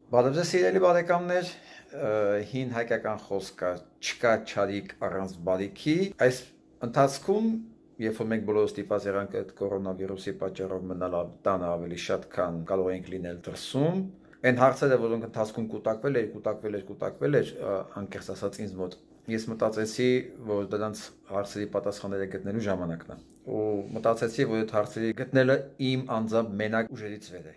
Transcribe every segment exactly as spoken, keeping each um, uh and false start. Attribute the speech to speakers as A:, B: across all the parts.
A: Բարև ձեզ սիրելի բարեկամներ, հին հայկական խոսք կա, չկա չարիք առանց բարիքի։ Այս ընթացքում, երբ որ մենք բոլորը ստիպված եղանք այդ կորոնավիրուսի պատճառով մնալ տանը ավելի շատ, քան կարող ենք լինել դրսում, այն հարցերը, որոնք ընթացքում կուտակվել էր, կուտակվել էր, կուտակվել էր, անկեղծ ասած ինձ մոտ, ես մտածեցի, որ դրանց հարցերի պատասխանները գտնելու ժամանակն է։ Ու մտածեցի, որ այդ հարցերի գտնելը իմ անձամբ մենակ ուժերից վեր է։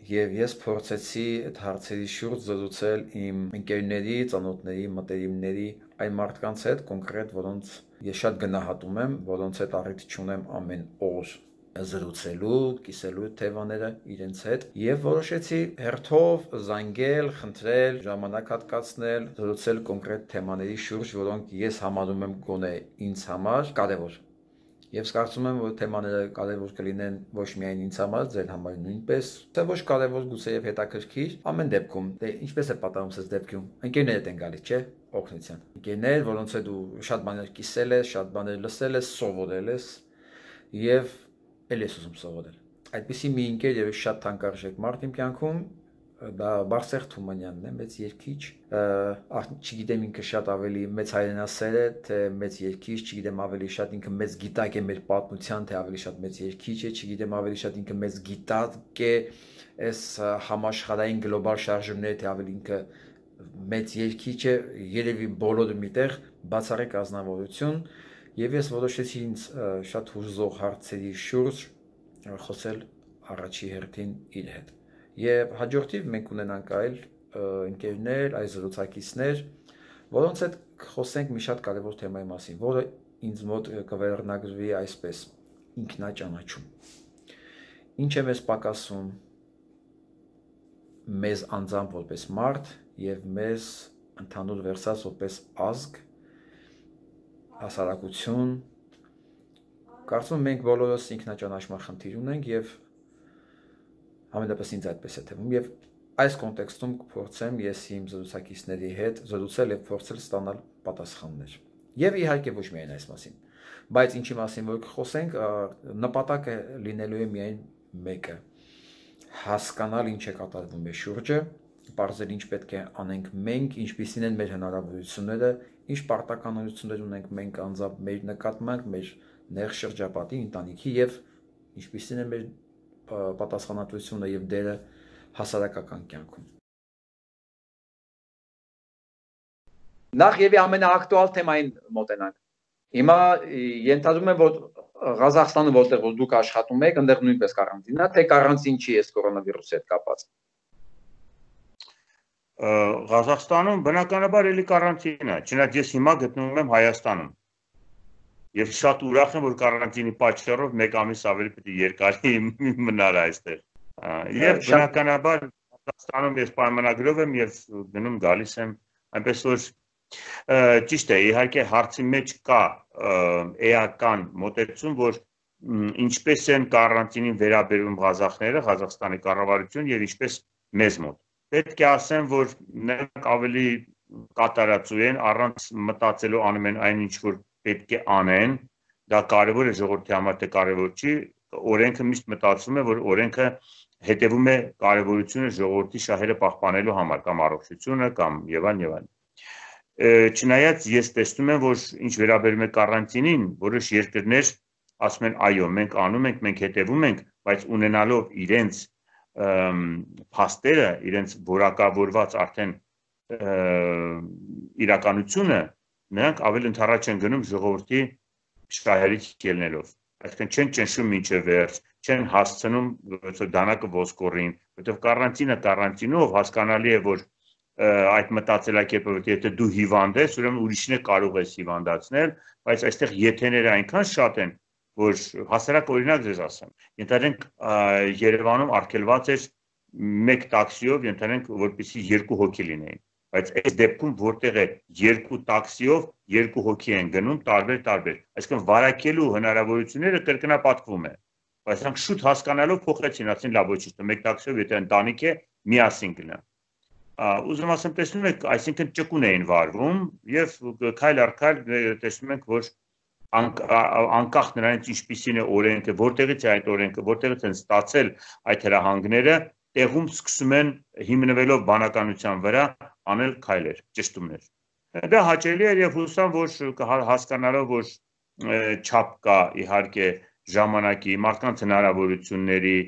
A: Եվ ես փորձեցի այդ հարցերի շուրջ զրուցել իմ ընկերների, ծանոթների, մտերիմների, այն մարդկանց հետ կոնկրետ, որոնց ես շատ գնահատում եմ, որոնց հետ առիթ չունեմ ամեն օր զրուցելու, կիսելու թեմաները իրենց հետ եւ որոշեցի հերթով զանգել, խնդրել, ժամանակ հատկացնել, զրուցել կոնկրետ թեմաների շուրջ, որոնք ես համարում եմ գոնե ինձ համար կարեւոր։ Եվ կարծում եմ, որ թեմաները կարևոր կլինեն ոչ միայն ինձ համար, ձեր համար նույնպես, թե ոչ կարևոր գուցե եւ հետաքրքիր, ամեն դեպքում, դե ինչպես է պատահում սենց դեպքում, ընկերներդ են գալիս, չէ՞, օգնության։ Ընկերներ, որոնց հետ դու շատ բաներ կիսել ես, շատ բաներ լսել ես, սովորել ես եւ ել ես ուզում սովորել։ Այդպիսի մի ընկեր եւ շատ թանկարժեք մարդ իմ կյանքում դա Բարսեղ Թումանյանն է, մեծ երգիչ, չգիտեմ ինքը շատ ավելի մեծ հայրենասեր է, թե մեծ երգիչ, չգիտեմ ավելի շատ ինքը մեծ գիտակ է մեր պատմության, թե ավելի շատ մեծ երգիչ է, չգիտեմ ավելի շատ ինքը մեծ գիտակ է, այս համաշխարհային գլոբալ շարժումները, թե ավելի ինքը մեծ երգիչ է, երևի բոլորը միտեղ բացառիկ ազնվորություն, եւ ես որոշեցի ինձ շատ հուզող հարցերի շուրջ խոսել առաջի հերթին իր հետ։ Եվ հաջորդիվ մենք ունենանք այլ ընկերներ, այլ զրուցակիցներ, որոնց հետ խոսենք մի շատ կարևոր թեմայի մասին, որը ինձ մոտ կվերնագրվի այսպես՝ ինքնաճանաչում։ Ինչ է մեզ պակասում մեզ անձամբ որպես մարդ եւ մեզ ընդհանուր վերցած որպես ազգ, հասարակություն։ Կարծում եմ մենք բոլորս ինքնաճանաչման խնդիր ունենք եւ Համենայնպես ինձ այդպես է թվում եւ այս կոնտեքստում կփորձեմ ես իմ զրուցակիցների հետ զրուցել եւ փորձել ստանալ պատասխաններ։ Եվ իհարկե ոչ միայն այս մասին, բայց ինչի մասին որ կխոսենք, նպատակը լինելու է միայն մեկը՝ հասկանալ ինչ է կատարվում մեր շուրջը, պարզել ինչ պետք է անենք մենք, ինչպիսին են մեր հնարավորությունները, ինչ պարտականություններ ունենք մենք անձամբ մեր նկատմամբ, մեր նեղ շրջապատի, ընտանիքի եւ ինչպիսին է մեր պատասխանատվությունը եւ դերը հասարակական կյանքում։ Նախ եւ ամենաակտուալ թեմային մոտենանք։ Հիմա ենթադրում եմ, որ Ղազախստանը, որտեղ որ դուք աշխատում եք, այնտեղ նույնպես կարանտին է, թե կարանտին չի էս կորոնավիրուսի հետ կապած։
B: Ղազախստանում բնականաբար էլի կարանտին է, չնայած ես հիմա գտնվում եմ Հայաստանում։ Եվ շատ ուրախ եմ, որ կարանտինի պատճառով մեկ ամիս ավելի պետք է երկարի մնալ այստեղ։ Եվ բնականաբար Ղազախստանում ես պայմանագրով եմ եւ գնում գալիս եմ, այնպես որ ճիշտ է, իհարկե հարցի մեջ կա էական մոտեցում, որ ինչպես են կարանտինին վերաբերում ղազախները, Ղազախստանի կառավարություն եւ ինչպես մեզ մոտ։ Պետք է ասեմ, որ նրանք ավելի կատարածու են, առանց մտածելու անում են այն ինչ որ պետք է անեն, դա կարևոր է ժողովրդի համար, թե կարևոր չի, օրենքը միշտ մտածում է, որ օրենքը հետևում է կարևորությունը ժողովրդի շահերը պահպանելու համար, կամ առողջությունը, կամ եւ այլն եւ այլն։ Չնայած ես տեսնում եմ, որ ինչ վերաբերում է կարանտինին, որոշ երկրներ ասում են այո, մենք անում ենք, մենք հետևում ենք, բայց ունենալով իրենց փաստերը, իրենց որակավորված արդեն իրականությունը, նրանք ավելի ընդառաջ են գնում ժողովրդի շահերից ելնելով, այսինքն չեն ճնշում մինչև վերջ, չեն հասցնում դանակը ոսկորին, որովհետև կարանտինը կարանտինով հասկանալի է, որ այդ մտածելակերպը, որ եթե դու հիվանդ ես, ուրեմն ուրիշին կարող ես հիվանդացնել, բայց այստեղ եթեները այնքան շատ են, որ հասարակ օրինակ ձեզ ասեմ, ենթադրենք Երևանում արգելված էր մեկ տաքսիով, ենթադրենք որպեսզի երկու հոգի լինեին, բայց այս դեպքում որտեղ է երկու տաքսիով երկու հոգի են գնում տարբեր-տարբեր, այսինքն վարակելու հնարավորությունները կրկնապատկվում է, բայց նրանք շուտ հասկանալով փոխեցին, ասին լավ ոչինչ, մեկ տաքսիով եթե ընտանիք է միասին գնա։ Ուզում ասեմ, տեսնում եք, այսինքն ճկուն էին վարվում եւ քայլ առ քայլ տեսնում ենք, որ անկախ նրանից ինչպիսին է օրենքը, որտեղից է այդ օրենքը, որտեղից են ստացել այդ հրահանգները, տեղում սկսում են հիմնվելով բանականության վրա անել քայլեր, ճշտումներ։ Դա հաճելի է եւ հուսամ, որ հասկանալով, որ չափ կա իհարկե ժամանակի, մարդկանց հնարավորությունների,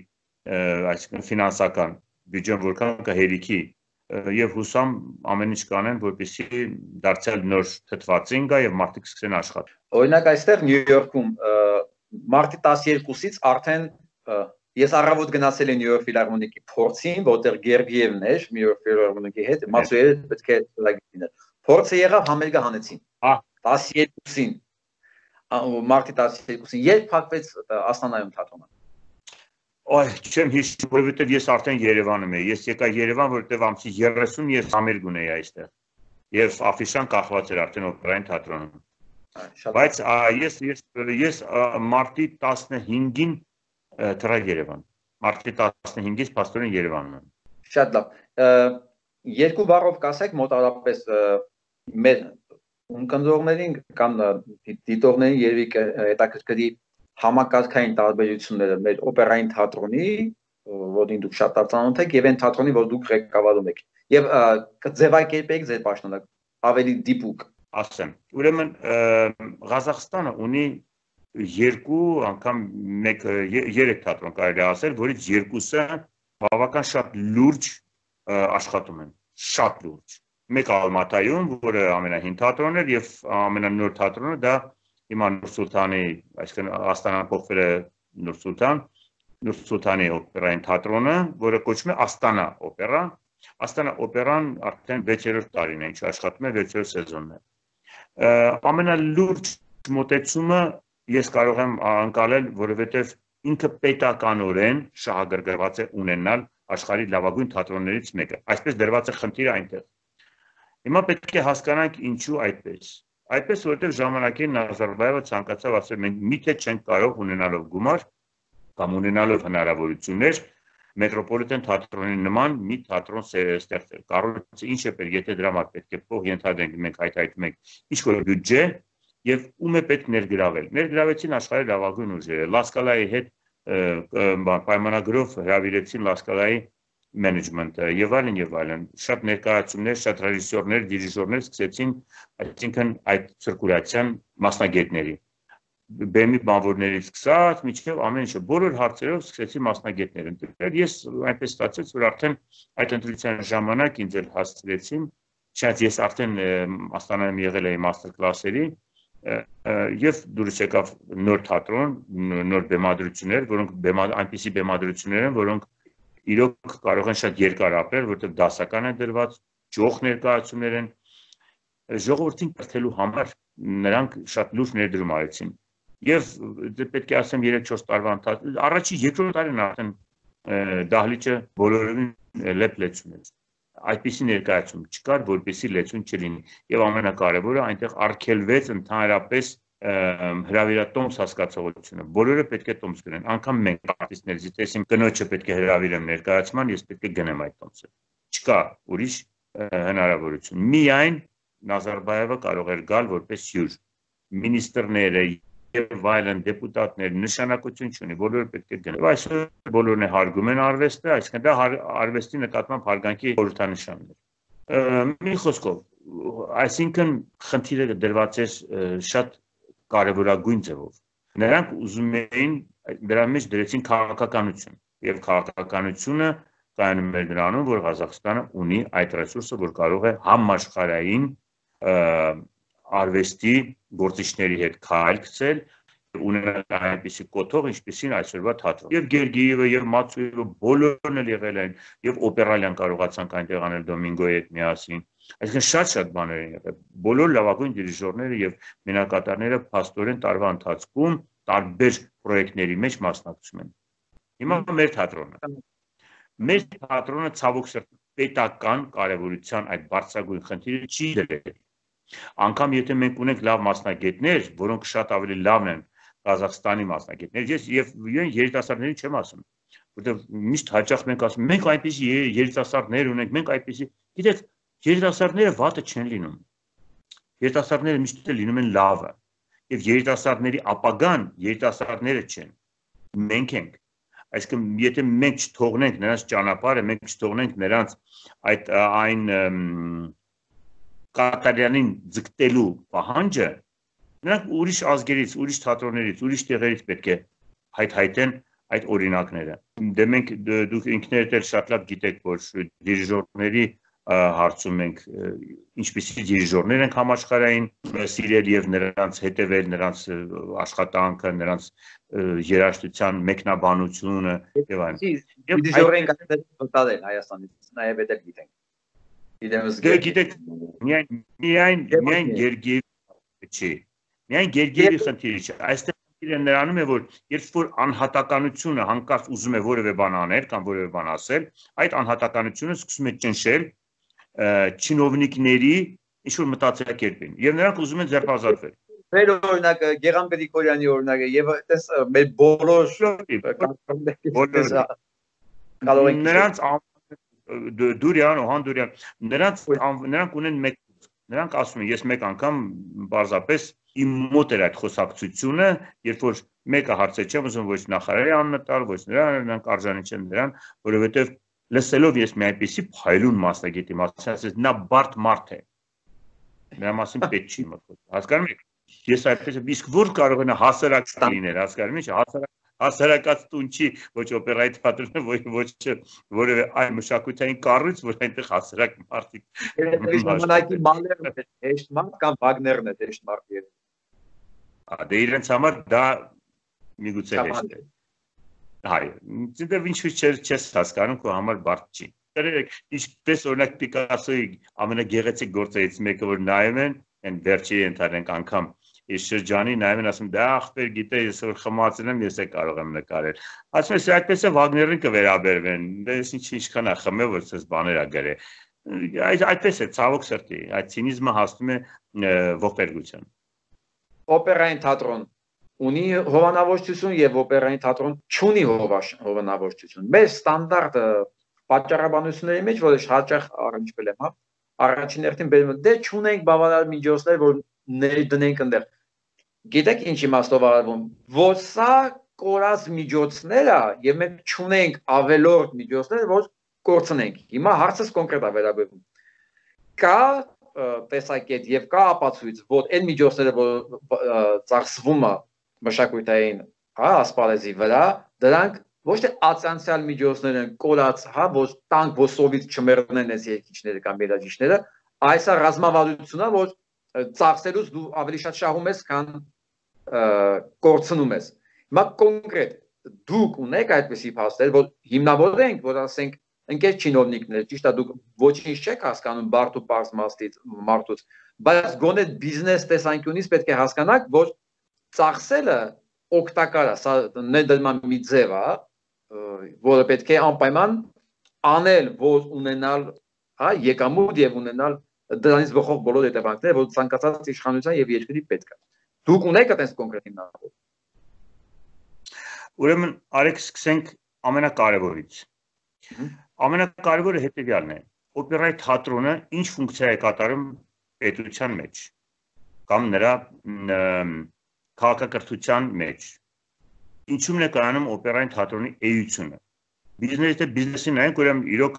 B: այսինքն ֆինանսական բյուջեն որքան կա հերիքի եւ հուսամ ամեն ինչ կանեն, որպեսզի դարձյալ նոր թթվածին գա եւ մարդիկ սկսեն աշխատել։
A: Օրինակ այստեղ Նյու Յորքում մարտի տասներկուսից արդեն ես առավոտ գնացել եմ Նյու Յորք ֆիլհարմոնիկի փորձին, որտեղ Գերգիևն էր Նյու Յորք ֆիլհարմոնիկի հետ, մացուերը պետք է լագիներ։ Փորձը եղավ համերգը հանեցին։ տասներկուսին մարտի տասներկուսին երբ փակվեց Աստանայում թատրոնը։
B: Այ չեմ հիշում, որովհետև ես արդեն Երևանում եի։ Ես եկա Երևան, որովհետև ամսի երեսուն ես համերգ ունեի այստեղ։ Եվ աֆիշան կախված էր արդեն օպերային թատրոնում։ Բայց ես ես ես մարտի տասնհինգին թռա Երևան։ Մարտի տասնհինգից փաստորեն Երևանում եմ։
A: Շատ լավ։ Երկու բառով կասեք մոտավորապես մեր ունկնդրողներին կամ դիտողներին երևի հետաքրքրի համակարգային տարբերությունները մեր օպերային թատրոնի, որին դուք շատ ծանոթ եք, եւ այն թատրոնի, որ դուք ղեկավարում եք։ Եվ կձևակերպեք ձեր պաշտոնը ավելի դիպուկ։
B: Ասեմ, ուրեմն Ղազախստանը ունի երկու անգամ մեկ երեք թատրոն կարելի է ասել, որից երկուսը բավական շատ լուրջ աշխատում են, շատ լուրջ։ Մեկ Ալմատայում, որը ամենահին թատրոնն էր, եւ ամենանոր թատրոնը դա հիմա Նուր Սուլթանի, այսինքն Աստանան փոխվել է Նուր Սուլթան, Նուր Սուլթանի օպերային թատրոնը, որը կոչվում է Աստանա օպերա։ Աստանա օպերան արդեն վեցերորդ տարին է, ինչ աշխատում է վեցերորդ սեզոնն է։ Ամենալուրջ մոտեցումը ես կարող եմ անցնել, որովհետև ինքը պետականորեն շահագրգռված է ունենալ աշխարհի լավագույն թատրոններից մեկը։ Այսպես դրված է խնդիրը այնտեղ։ Հիմա պետք է հասկանանք ինչու այդպես։ Այդպես որովհետև ժամանակին Նազարբայևը ցանկացավ ասել մենք միթե չենք կարող ունենալով գումար կամ ունենալով հնարավորություններ մետրոպոլիտեն թատրոնի նման մի թատրոն ստեղծել։ Կառույցը ինչ է պետք, եթե դրա համար պետք է փող ենթադրենք, մենք հայտարարում ենք ինչ-որ բյուջե եւ ում է պետք ներգրավել։ Ներգրավեցին աշխարհի լավագույն ուժերը։ Լասկալայի հետ պայմանագրով հրավիրեցին Լասկալայի management-ը եւ այլն եւ այլն շատ ներկայացումներ, շատ ռեժիսորներ, դիրիժորներ սկսեցին, այսինքն այդ ցիրկուլյացիան մասնագետների բեմի բանվորներից սկսած մինչև ամեն ինչը բոլոր հարցերով սկսեցի մասնագետներ ընտրել։ Ես այնպես ստացեց, որ արդեն այդ ընտրության ժամանակ ինձ էլ հասցրեցին, չնայած ես արդեն Աստանայում եղել էի մաստեր կլասերի եւ դուրս եկավ նոր թատրոն, նոր բեմադրություններ, որոնք այնպիսի բեմադրություններ են, որոնք իրոք կարող են շատ երկար ապրել, որովհետև դասական են դրված, ջոխ ներկայացումներ են, ժողովրդին կրթելու համար նրանք շատ լուրջ ներդրում արեցին։ Եվ պետք է ասեմ երեք-չորս տարվա ընթացքում, առաջի երկրորդ տարին արդեն դահլիճը բոլորովին լեփ-լեցուն էր։ Այդպիսի ներկայացում չկար, որպեսզի լեցուն չլինի։ Եվ ամենակարևորը այնտեղ արգելվեց ընդհանրապես հրավիրատոմս հասկացողությունը։ Բոլորը պետք է տոմս գնեն, անգամ մենք արտիստներից տեսին կնոջը պետք է հրավիրեմ ներկայացման, ես պետք է գնեմ այդ տոմսը։ Չկա ուրիշ հնարավորություն։ Միայն Նազարբայևը կարող էր գալ որպես հյուր։ Մինիստրները եւ այլն դեպուտատներ նշանակություն չունի, բոլորը պետք է գնեն։ Այսօր բոլորն է հարգում են արվեստը, այսինքն դա արվեստի նկատմամբ հարգանքի խորհրդանշանն է։ Մի խոսքով, այսինքն խնդիրը դրված է շատ կարևորագույն ձևով։ Նրանք ուզում էին դրա մեջ դրեցին քաղաքականություն եւ քաղաքականությունը կայանում էր նրանում, որ Ղազախստանը ունի այդ ռեսուրսը, որ կարող է համաշխարհային արվեստի գործիչների հետ քայլ գցել ունենալ այնպիսի կոթող, ինչպիսին այսօրվա թատրոն։ Եվ Գերգիևը եւ Մացուևը բոլորն էլ եղել են եւ օպերալյան կարողացանք այնտեղ անել Դոմինգոյի հետ միասին։ Այսինքն շատ-շատ բաներ են եղել։ Բոլոր լավագույն դիրիժորները եւ մենակատարները փաստորեն տարվա ընթացքում տարբեր պրոյեկտների մեջ մասնակցում են։ Հիմա մեր թատրոնը։ Մեր թատրոնը ցավոք սրտի պետական կարևորության այդ բարձրագույն խնդիրը չի դրել։ Անկամ եթե մենք ունենք լավ մասնագետներ, որոնք շատ ավելի լավն են Ղազախստանի մասնագետներ, ես եւ երիտասարդների չեմ ասում, որտեղ միշտ հաճախ մենք ասում, մենք այնպիսի երիտասարդներ ունենք, մենք այնպիսի, գիտեք, երիտասարդները վատը չեն լինում։ Երիտասարդները միշտ լինում են լավը, եւ երիտասարդների ապագան երիտասարդները չեն։ Մենք ենք։ Այսինքն եթե մենք չթողնենք նրանց ճանապարհը, մենք չթողնենք նրանց այդ այն կատարյանին ձգտելու պահանջը, նրանք ուրիշ ազգերից, ուրիշ թատրոններից, ուրիշ տեղերից պետք է հայթայթեն այդ օրինակները։ Դե մենք դուք ինքներդ էլ շատ լավ գիտեք, որ դիրիժորների հարցում ենք ինչպիսի դիրիժորներ ենք համաշխարհային սիրել եւ նրանց հետևել, նրանց աշխատանքը, նրանց երաժշտության մեկնաբանությունը եւ այլն։
A: Դիրիժորենք այդտեղ Հայաստանից նաեւ էլ գիտենք։
B: Դե գիտեք, միայն միայն միայն Գերգիևի չի։ Միայն Գերգիևի խնդիրը չէ։ Այստեղ խնդիրը նրանում է, որ երբ որ անհատականությունը հանկարծ ուզում է որևէ բան անել կամ որևէ բան ասել, այդ անհատականությունը սկսում է ճնշել չինովնիկների ինչ-որ մտածելակերպին եւ նրանք ուզում են ձերբազատվել։
A: Մեր օրինակը Գեգամ Գրիգորյանի օրինակը եւ այդպես մեր բոլոր
B: նրանց Դուրյան ու Հանդուրյան նրանց նրանք ունեն մեկ նրանք ասում են ես մեկ անգամ բարձրապես իմ մոտ էր այդ խոսակցությունը երբ որ մեկը հարցեր չեմ ուզում ոչ նախարարի անունը տալ ոչ նրան նրանք արժանի չեն նրան որովհետեւ լսելով ես մի այնպեսի փայլուն մասնագետի մասին ասես նա բարդ մարդ է նրա մասին պետք չի մտքով հասկանում եք ես այդպես իսկ որ կարող է հասարակ լինել հասկանում եք հասարակ հասարակած տուն չի ոչ օպերայի թատրոնը ոչ ոչ որևէ այլ մշակութային կառույց որ այնտեղ հասարակ մարդիկ
A: ժամանակի Մալերն է հեշտ մարդ կամ Վագներն է հեշտ մարդ
B: երբ դե իրենց համար դա միգուցե հեշտ է հայ դե ինչու՞ չես հասկանում քո համար բարդ չի դերեք ինչպես օրինակ Պիկասոյի ամենագեղեցիկ գործերից մեկը որ նայում են այն վերջի ընդհանրենք անգամ Ես շրջանի նայում են ասում դա ախպեր գիտե ես որ խմացել եմ ես է կարող եմ նկարել ասում ես այդպես է Վագներին կվերաբերվեն դե ես ինչ ինչքան է խմել որ ցես բաներ ա գրե այդպես է ցավոք սրտի այդ ցինիզմը հասնում է ողբերգության
A: օպերային թատրոն ունի հովանավորչություն եւ օպերային թատրոն չունի հովանավորչություն մեր ստանդարտը պատճառաբանությունների մեջ որ հաճախ առնչվել եմ հա առաջին հերթին բերում դե չունենք բավարար միջոցներ որ ներդնենք այնտեղ Գիտեք ինչ իմաստով արվում որ սա կորած միջոցները եւ մենք չունենք ավելորդ միջոցներ որ կորցնենք հիմա հարցս կոնկրետ է վերաբերվում կա տեսակետ եւ կա ապացույց որ այն միջոցները որ ծախսվում է մշակութային հա ասպարեզի վրա դրանք ոչ թե ացանցիալ միջոցներ են կորած հա որ տանկ ոսովից չմեռնեն այս երկիչները կամ երաժիշտները այս է ռազմավարությունն որ ծախսելուց դու ավելի շատ շահում ես քան կորցնում ես հիմա կոնկրետ դուք ունեք այդպիսի փաստեր որ հիմնավորենք որ ասենք ընկեր չինովնիկներ ճիշտ է դուք ոչինչ չեք հասկանում բարդ ու պարզ մաստից մարդուց բայց գոնե բիզնես տեսանկյունից պետք է հասկանաք որ ծախսելը օգտակար է սա ներդրման մի ձև է որը պետք է անպայման անել որ ունենալ հա եկամուտ եւ ունենալ դրանից բխող բոլոր հետևանքները որ ցանկացած իշխանության եւ երկրի պետք է դուք ունեք այդպես կոնկրետ հիմնավոր
B: ուրեմն արեք սկսենք ամենակարևորից ամենակարևորը հետեւյալն է օպերայի թատրոնը ինչ ֆունկցիա է կատարում պետության մեջ կամ նրա քաղաքակրթության մեջ ինչու՞մն է կայանում օպերային թատրոնի էությունը բիզնեսը բիզնեսին այն ուրեմն իրոք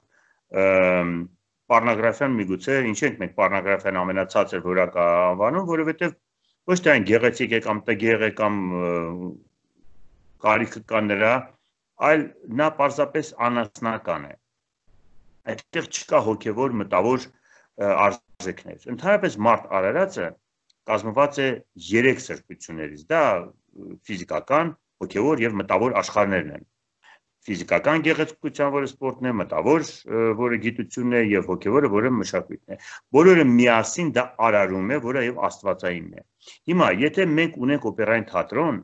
B: Պառնոգրաֆիան միգուցե ինչ ենք մենք պառնոգրաֆիան ամենացածր որակա անվանում, որովհետև ոչ թե այն գեղեցիկ է կամ տգեղ է կամ կարիքը կա նրա, այլ նա պարզապես անասնական է։ Այդտեղ չկա հոգևոր մտավոր արժեքներ։ Ընդհանրապես մարդ արարածը կազմված է երեք սրբություններից, դա ֆիզիկական, հոգևոր եւ մտավոր աշխարհներն են։ Ֆիզիկական գեղեցկության, որը սպորտն է, մտավոր, որը գիտությունն է եւ հոգեվորը, որը մշակույթն է։ Բոլորը միասին դա արարում է, որը եւ աստվածայինն է։ Հիմա, եթե մենք ունենք օպերային թատրոն,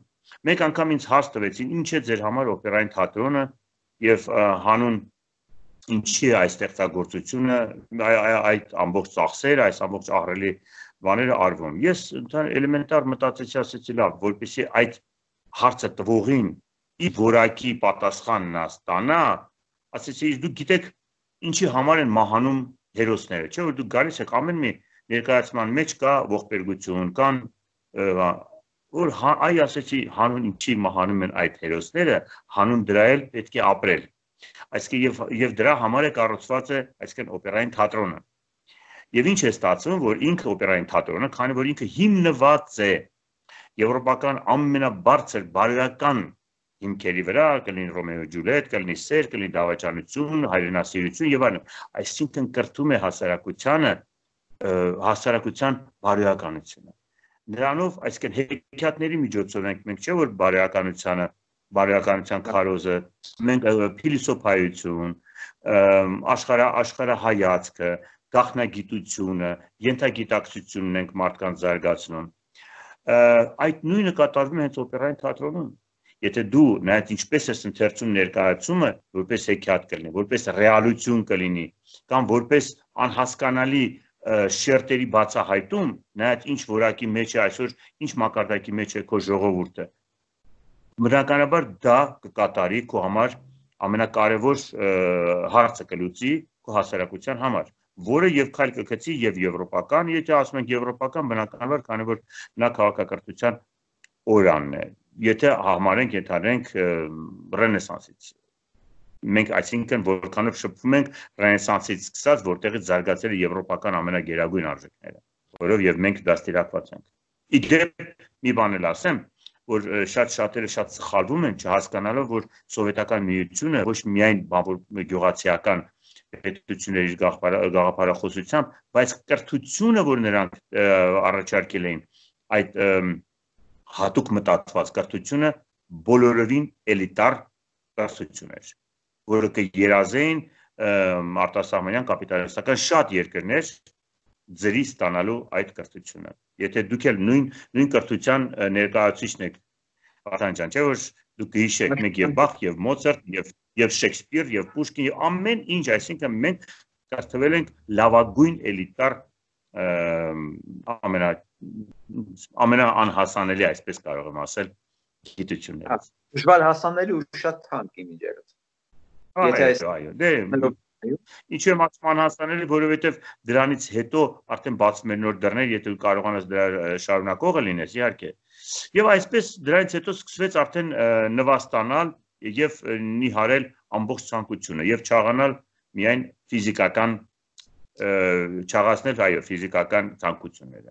B: մեկ անգամ ինձ հարց տվեցին, ինչ է ձեր համար օպերային թատրոնը եւ հանուն ինչի է այս ստեղծագործությունը, այդ ամբողջ ծախսերը, այս ամբողջ ահռելի բաները արվում։ Ես էլեմենտար մտածեցի, ասեցի լավ, որպեսզի այդ հարցը տվողին ի որակի պատասխանն ստանա, ասեցի, դուք գիտեք ինչի համար են մահանում հերոսները, չէ՞ որ դուք գալիս եք ամեն մի ներկայացման մեջ կա ողբերգություն, կան որ այ ասեցի հանուն ինչի մահանում են այդ հերոսները, հանուն դրա էլ պետք է ապրել։ Այսինքն եւ եւ դրա համար է կառուցված է, այսինքն օպերային թատրոնը։ Եվ ինչ է ստացվում, որ ինքը օպերային թատրոնը, քանի որ ինքը հիմնված է եվրոպական ամենաբարձր բարոյական հիմքերի վրա, կլինի Ռոմեո Ջուլիետ, կլինի սեր, կլինի դավաճանություն, հայրենասիրություն եւ այլն, այսինքն կրթում է հասարակությանը, հասարակության բարոյականությունը։ Նրանով, այսինքն հեքիաթների միջոցով ենք մենք չէ որ բարոյականությանը, բարոյականության քարոզը, մենք փիլիսոփայություն, աշխարհ աշխարհայացքը, գաղտնագիտությունը, ենթագիտակցությունն ենք մարդկանց զարգացնում։ Այդ նույնը կատարվում է հենց օպերային թատրոնում։ Եթե դու նայած ինչպես ես ընթերցում ներկայացումը, որպես հեքիաթ կլինի, որպես ռեալություն կլինի, կամ որպես անհասկանալի շերտերի բացահայտում, նայած ինչ որակի մեջ է այսօր, ինչ մակարդակի մեջ է քո ժողովուրդը։ Բնականաբար դա կկատարի քո համար ամենակարևոր հարցը կլուծի քո հասարակության համար, որը եւ քայլ կգցի եւ եվրոպական, եթե ասում ենք եվրոպական, բնականաբար, քանի որ նա քաղաքակրթության օրանն է։ Եթե համարենք, ենթադրենք ռենեսանսից։ Մենք այսինքն որքանով շփվում ենք ռենեսանսից սկսած, որտեղից զարգացել է եվրոպական ամենագերագույն արժեքները, որով եւ մենք դաստիարակված ենք։ Իդեպ մի բան էլ ասեմ, որ շատ շատերը շատ սխալվում են, չհասկանալով, որ սովետական միությունը ոչ միայն գյուղացիական պետությունների գաղափարախոսությամբ, բայց կրթությունը, որ նրանք առաջարկել էին, այդ հատուկ մտածված կրթությունը բոլորովին էլիտար կրթություն էր, որը կերազեին արտասահմանյան կապիտալիստական շատ երկրներ ձրի ստանալու այդ կրթությունը։ Եթե դուք էլ նույն նույն կրթության ներկայացուցիչն եք, Վարդան ջան, չէ՞ որ դուք գիշեք մենք եւ Բախ եւ Մոցարտ եւ եւ Շեքսպիր եւ Պուշկին եւ ամեն ինչ, այսինքն մենք կրթվել ենք լավագույն էլիտար ամենա ամենաանհասանելի, այսպես կարող եմ ասել, գիտություններից։
A: Դժվար հասանելի ու շատ թանկ իմիջերից։
B: Այո, այո, դե ինչու եմ ասում անհասանելի, որովհետև դրանից հետո արդեն բացվում են նոր դռներ, եթե դու կարողանաս դրա շարունակողը լինես, իհարկե։ Եվ այսպես դրանից հետո սկսվեց արդեն նվաստանալ եւ նիհարել ամբողջ ցանկությունը եւ չաղանալ միայն ֆիզիկական չաղացնել, այո, ֆիզիկական ցանկությունները։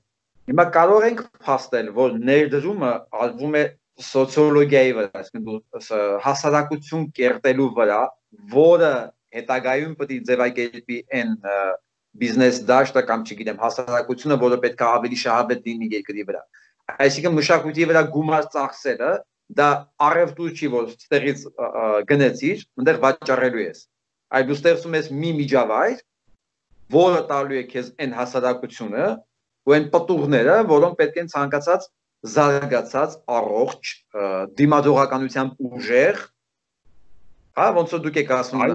A: Հիմա կարող ենք փաստել, որ ներդրումը արվում է սոցիոլոգիայի վրա, այսինքն հասարակություն կերտելու վրա, որը հետագայում պետք է ձևակերպի այն բիզնես դաշտը կամ չգիտեմ հասարակությունը, որը պետք է ավելի շահավետ լինի երկրի վրա։ Այսինքն մշակույթի վրա գումար ծախսելը դա առևտուր չի, որ ստեղից գնեցիր, այնտեղ վաճառելու ես։ Այլ դու ստեղծում ես մի միջավայր, որը տալու է քեզ այն հասարակությունը, ու այն պտուղները, որոնք պետք են ցանկացած զարգացած, առողջ, դիմադրողականությամբ ուժեղ, հա, ոնց որ դուք եք ասում,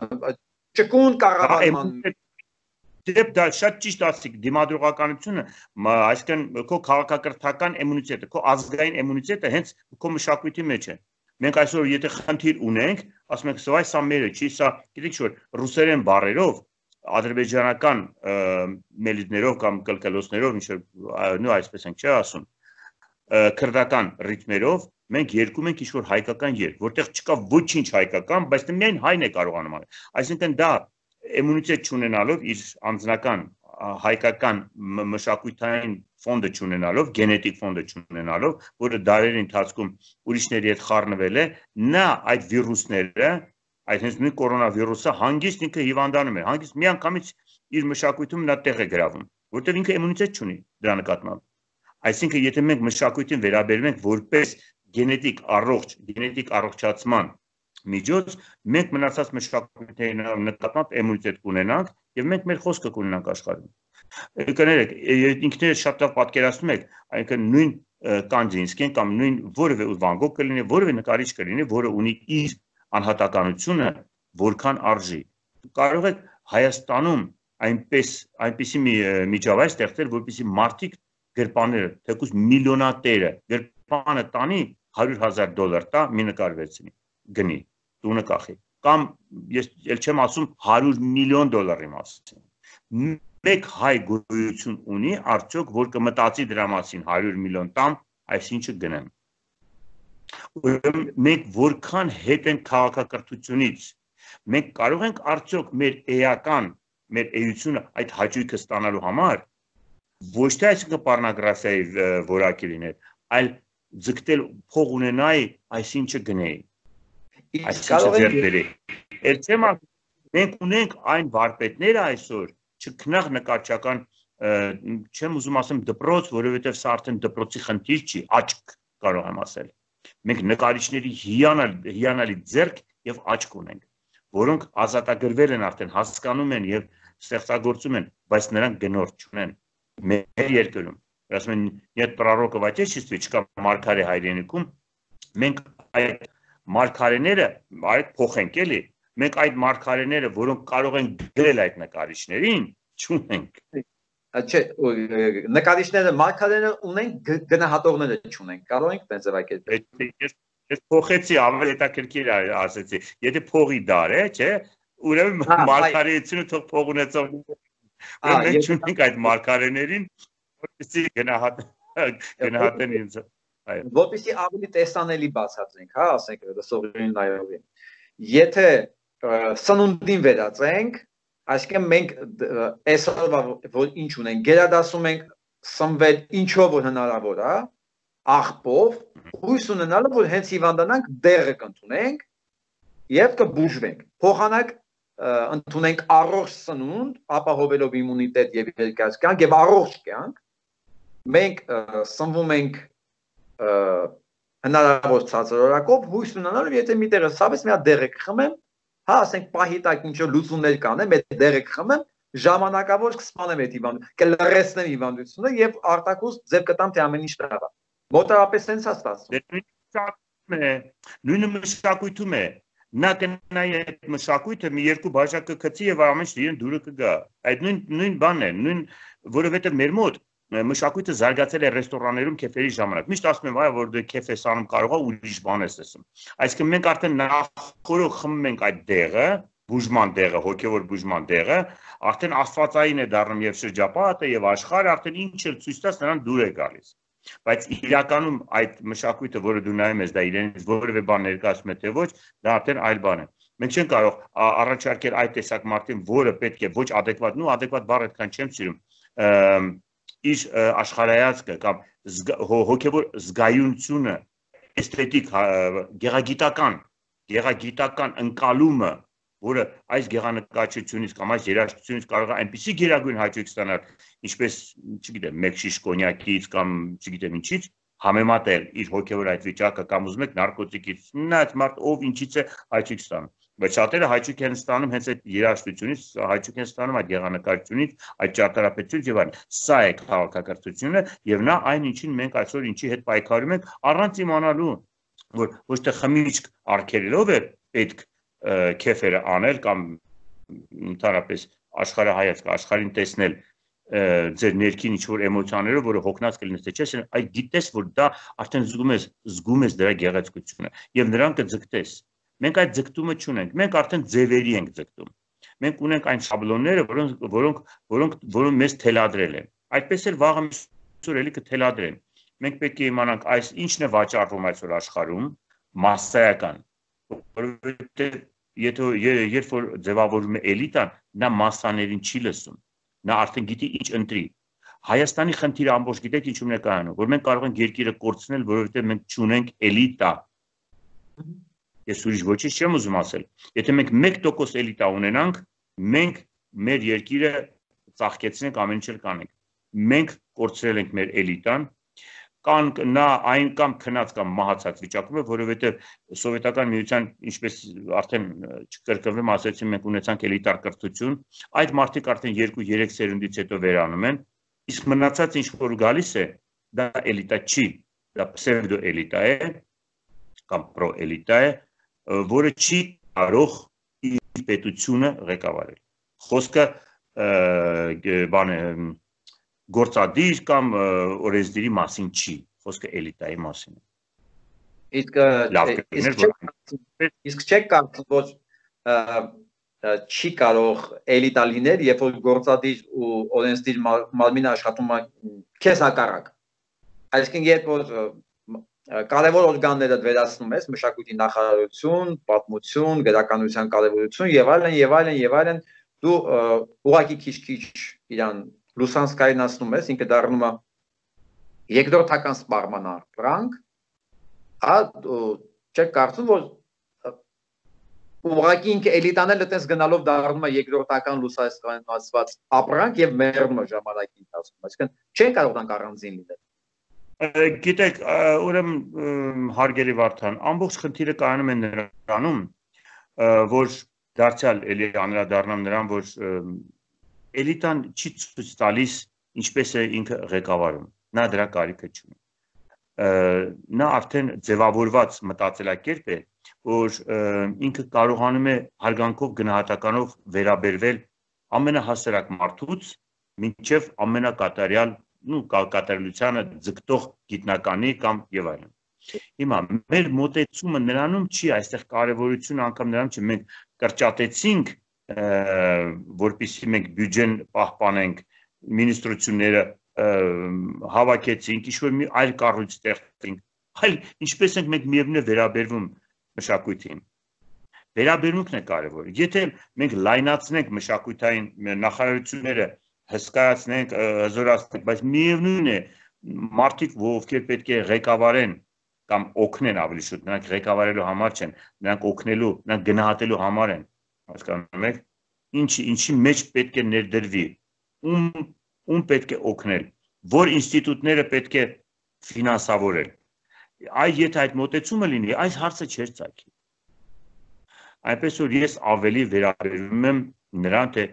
A: ճկուն կառավարման
B: Դեպ դա շատ ճիշտ ասիք, դիմադրողականությունը, այսինքն քո քաղաքակրթական էմունիտետը, քո ազգային էմունիտետը հենց քո մշակույթի մեջ է։ Մենք այսօր եթե խնդիր ունենք, ասում ենք, սա սա մերը չի, սա, գիտեք ինչ, ռուսերեն բառերով, ադրբեջանական մելիդներով կամ կլկլոցներով, ինչ նո այսպես ենք չէ ասում, քրդական ռիթմերով մենք երկում ենք ինչ-որ հայկական երգ, որտեղ չկա ոչինչ հայկական, բայց միայն հայն է կարողանում անել։ Այսինքն դա էմունիտետ չունենալով, իր անձնական հայկական մշակութային ֆոնդը չունենալով, գենետիկ ֆոնդը չունենալով, որը դարերի ընթացքում ուրիշների հետ խառնվել է, նա այդ վիրուսները, այդ հենց նույն կորոնավիրուսը հանգիստ ինքը հիվանդանում է, հանգիստ միանգամից իր մշակույթում նա տեղ է գրավում, որտեղ ինքը էմունիտետ չունի դրա նկատմամբ։ Այսինքն, եթե մենք մշակույթին վերաբերում ենք որպես գենետիկ առողջ, գենետիկ առողջացման միջոց, մենք մնացած մշակույթների նկատմամբ էմունիտետ կունենանք եւ մենք մեր խոսքը կունենանք աշխարհում։ Կներեք, ինքներդ շատ լավ պատկերացնում եք, այնինքն նույն Կանդինսկին կամ նույն որևէ Վան Գոգ կլինի, որևէ նկարիչ կլինի, որը ունի իր անհատականությունը, որքան արժի։ Կարող եք Հայաստանում այնպես այնպիսի մի միջավայր ստեղծել, որպեսզի մարդիկ գրպանները, թեկուզ միլիոնատերը գրպանը տանի հարյուր հազար դոլար տա մի նկարվեցնի, գնի, տունը կախի։ Կամ ես ել չեմ ասում հարյուր միլիոն դոլարի մասին։ Մեկ հայ գոյություն ունի, արդյոք որ կմտածի դրա մասին հարյուր միլիոն տամ, այսինչը գնեմ։ Մենք որքան հետ ենք քաղաքակրթությունից, մենք կարող ենք արդյոք մեր էական, մեր էությունը այդ հաճույքը ստանալու համար, ոչ թե այսինքն պառնոգրաֆիայի որակի լինել, այլ ձգտել փող ունենայի, այսինչը գնեի, այսինչը ձեռք բերեի։ Էլ չեմ ասում, մենք ունենք այն վարպետները այսօր, չքնաղ նկարչական, չեմ ուզում ասեմ դպրոց, որովհետև սա արդեն դպրոցի խնդիր չի, աչք կարող եմ ասել։ Մենք նկարիչների հիանալի ձեռք եւ աչք ունենք, որոնք ազատագրվել են արդեն, հասկանում են եւ ստեղծագործում են, բայց նրանք գնորդ չունեն մեր երկրում։ Ասում են, «Нет пророка в отечестве», չկա մարգարե հայրենիքում, մենք այդ մարգարեները, այդ փոխենք էլի, մենք այդ մարգարեները, որոնք կարող են գրել այդ նկարիչներին, չունենք։
A: Չէ, նկարիչները մարգարեները ունենք, գնահատողները չունենք, կարող ենք տենց ձևակերպել։
B: Ես փոխեցի, ավելի հետաքրքիր ասեցի, եթե փողի դար է, չէ, ուրեմն մարգարեությունը թող փող ունեցող, մենք չունենք այդ մարգարեներին, որպեսզի գնահատեն ինձ։
A: Որպեսզի ավելի տեսանելի բացատրենք, հա, ասենք դասողին նայողին։ Եթե սնունդին վերածենք, այսինքն մենք այսօրվա որ ինչ ունենք, գերադասում ենք սնվել ինչով որ հնարավոր է, աղբով, հույս ունենալը, որ հենց հիվանդանանք դեղը կընդունենք եւ կբուժվենք։ Փոխանակ ընդունենք առողջ սնունդ, ապահովելով իմունիտետ եւ երկար կյանք եւ առողջ կյանք։ Մենք սնվում ենք հնարավոր ցածրորակով, հույս ունենալով, եթե մի տեղը ցավես, մի հատ դեղը կխմեմ, հա, ասենք պահի տակ ինչ-որ լուծումներ կանեմ, այդ դեղը կխմեմ, ժամանակավոր կսպանեմ այդ հիվանդությունը, կլրացնեմ հիվանդությունը եւ արտակուս ձև կտամ թե ամեն ինչ լավ է։ Մոտավորապես sense է ստացվում։
B: Նույնը մշակույթում է։ Նա կնայի այդ մշակույթը մի երկու բաժակ կգցի եւ ամեն ինչ իրեն դուրը կգա։ Այդ նույն նույն բանն է, նույն, որովհետեւ մեր մոտ մշակույթը զարգացել է ռեստորաններում քեֆերի ժամանակ։ Միշտ ասում եմ, այ որ դու քեֆ ես անում, կարող է ուրիշ բան ես ասում։ Այսինքն մենք արդեն նախորդ խմում ենք այդ դեղը, բուժման դեղը, հոգեվոր բուժման դեղը, արդեն աստվածային է դառնում եւ շրջապատը եւ աշխարհը արդեն ինչ էլ ցույց տաս նրան դուր է գալիս։ Բայց իրականում այդ մշակույթը, որը դու նայում ես, դա իրենից որևէ բան ներկայացնում է թե ոչ, դա արդեն այլ բան է։ Մենք չենք կարող առաջարկել այդ տեսակ մարդին, որը պետք է ոչ adekvat, նու adekvat բառը այդքան չեմ սիրում, իր աշխարհայացքը կամ հոգևոր զգայունությունը, էսթետիկ, գեղագիտական, գեղագիտական ընկալումը, որը այս գեղանկարչությունից կամ այս երաժշտությունից կարող է այնպիսի գերագույն հաճույք ստանալ, ինչպես, չգիտեմ, մեկ շիշ կոնյակից կամ չգիտեմ ինչից, համեմատել իր հոգևոր այդ վիճակը կամ ուզում եք նարկոտիկից, նա այդ մարդ ով ինչից է հաճույք ստանում։ Բայց շատերը հաճույք են ստանում հենց այդ երաժշտությունից, հաճույք են ստանում այդ գեղանկարչությունից, այդ ճարտարապետությունից եւ այլն։ Սա է քաղաքակրթությունը եւ նա այն ինչին մենք այսօր ինչի հետ պայքարում ենք, առանց իմանալու, որ ոչ թե խմիչք արգելելով է պետք քեֆերը անել կամ ընդհանրապես աշխարհայացք, աշխարհին տեսնել ձեր ներքին ինչ-որ էմոցիաներով, որը հոգնած կլինես, թե չէ, այդ գիտես, որ դա արդեն զգում ես, զգում ես դրա գեղեցկությունը եւ նրան կձգտես։ Մենք այդ ձգտումը չունենք, մենք արդեն ձևերի ենք ձգտում։ Մենք ունենք այն շաբլոնները, որոնք որոնք որոնք որոնք մեզ թելադրել են։ Այդպես էլ վաղը այսօր էլի կթելադրեն։ Մենք պետք է իմանանք այս ինչն է վաճառվում այսօր աշխարհում, մասսայական, որովհետեւ եթե երբ որ ձևավորվում է էլիտան, նա մասսաներին չի լսում։ Նա արդեն գիտի ինչ ընտրի։ Հայաստանի խնդիրը ամբողջ գիտեք ինչու՞մն է կայանում, որ մենք կարող ենք երկիրը կորցնել, որովհետեւ մենք չունենք էլիտա։ Ես ուրիշ ոչինչ չեմ ուզում ասել։ Եթե մենք մեկ տոկոս էլիտա ունենանք, մենք մեր երկիրը ծաղկեցնենք, ամեն ինչ կանենք։ Մենք կորցրել ենք մեր էլիտան, կան նա այն կամ քնած կամ մահացած վիճակում է, որովհետև սովետական միության, ինչպես արդեն չկրկնվեմ, ասեցի, մենք ունեցանք էլիտար կրթություն, այդ մարդիկ արդեն երկու-երեք սերունդից հետո վերանում են, իսկ մնացած ինչ որ գալիս է, դա էլիտա չի, դա պսևդո էլիտա է կամ պրո էլիտա է, որը չի կարող իր պետությունը ղեկավարել։ Խոսքը բան է գործադիր կամ օրենսդիրի մասին չի, խոսքը էլիտայի մասին է։
A: Իսկ չեք կարծում, որ չի կարող էլիտա լինել, երբ որ գործադիր ու օրենսդիր մարմինը աշխատում է քեզ հակառակ։ Այսինքն երբ որ կարևոր օրգանները վերացնում ես, մշակույթի նախարարություն, պատմություն, գրականության կարևորություն եւ այլն եւ այլն եւ այլն, դու ուղղակի քիչ-քիչ իրան լուսանցքայնացնում ես, ինքը դառնում է երկրորդական սպառման ապրանք, հա, չեք կարծում, որ ուղղակի ինքը էլիտանել այդպես գնալով դառնում է երկրորդական լուսանցքայնացված ապրանք եւ մեռնում է ժամանակի ընթացքում, այսինքն չեն կարող առանձին լինել։
B: Գիտեք, ուրեմն հարգելի Վարդան, ամբողջ խնդիրը կայանում է նրանում, որ դարձյալ էլի անդրադառնամ նրան, որ էլիտան չի ցույց տալիս ինչպես է ինքը ղեկավարում, նա դրա կարիքը չունի։ Նա արդեն ձևավորված մտածելակերպ է, որ ինքը կարողանում է հարգանքով գնահատականով վերաբերվել ամենահասարակ մարդուց մինչև ամենակատարյալ ու կատարելությանը ձգտող գիտնականի կամ եւ այլն։ Հիմա մեր մոտեցումը նրանում չի, այստեղ կարևորությունը անգամ նրանում չի, մենք կրճատեցինք, որպեսզի մենք բյուջեն պահպանենք, մինիստրությունները հավաքեցինք, ինչ-որ մի այլ կառույց ստեղծենք, այլ ինչպես ենք մենք միևնույն է վերաբերվում մշակույթին։ Վերաբերմունքն է կարևոր։ Եթե մենք լայնացնենք մշակութային նախարարությունները, հսկայացնենք, հզորացնենք, բայց միևնույն է մարդիկ, ովքեր պետք է ղեկավարեն կամ օգնեն ավելի շուտ, նրանք ղեկավարելու համար չեն, նրանք օգնելու, նրանք գնահատելու համար են, հասկանում եք, ինչի, ինչի մեջ պետք է ներդրվի, ում, ում պետք է օգնել, որ ինստիտուտները պետք է ֆինանսավորել։ Այ եթե այդ մոտեցումը լինի, այս հարցը չէր ծագի։ Այնպես որ ես ավելի վերաբերվում եմ նրան, թե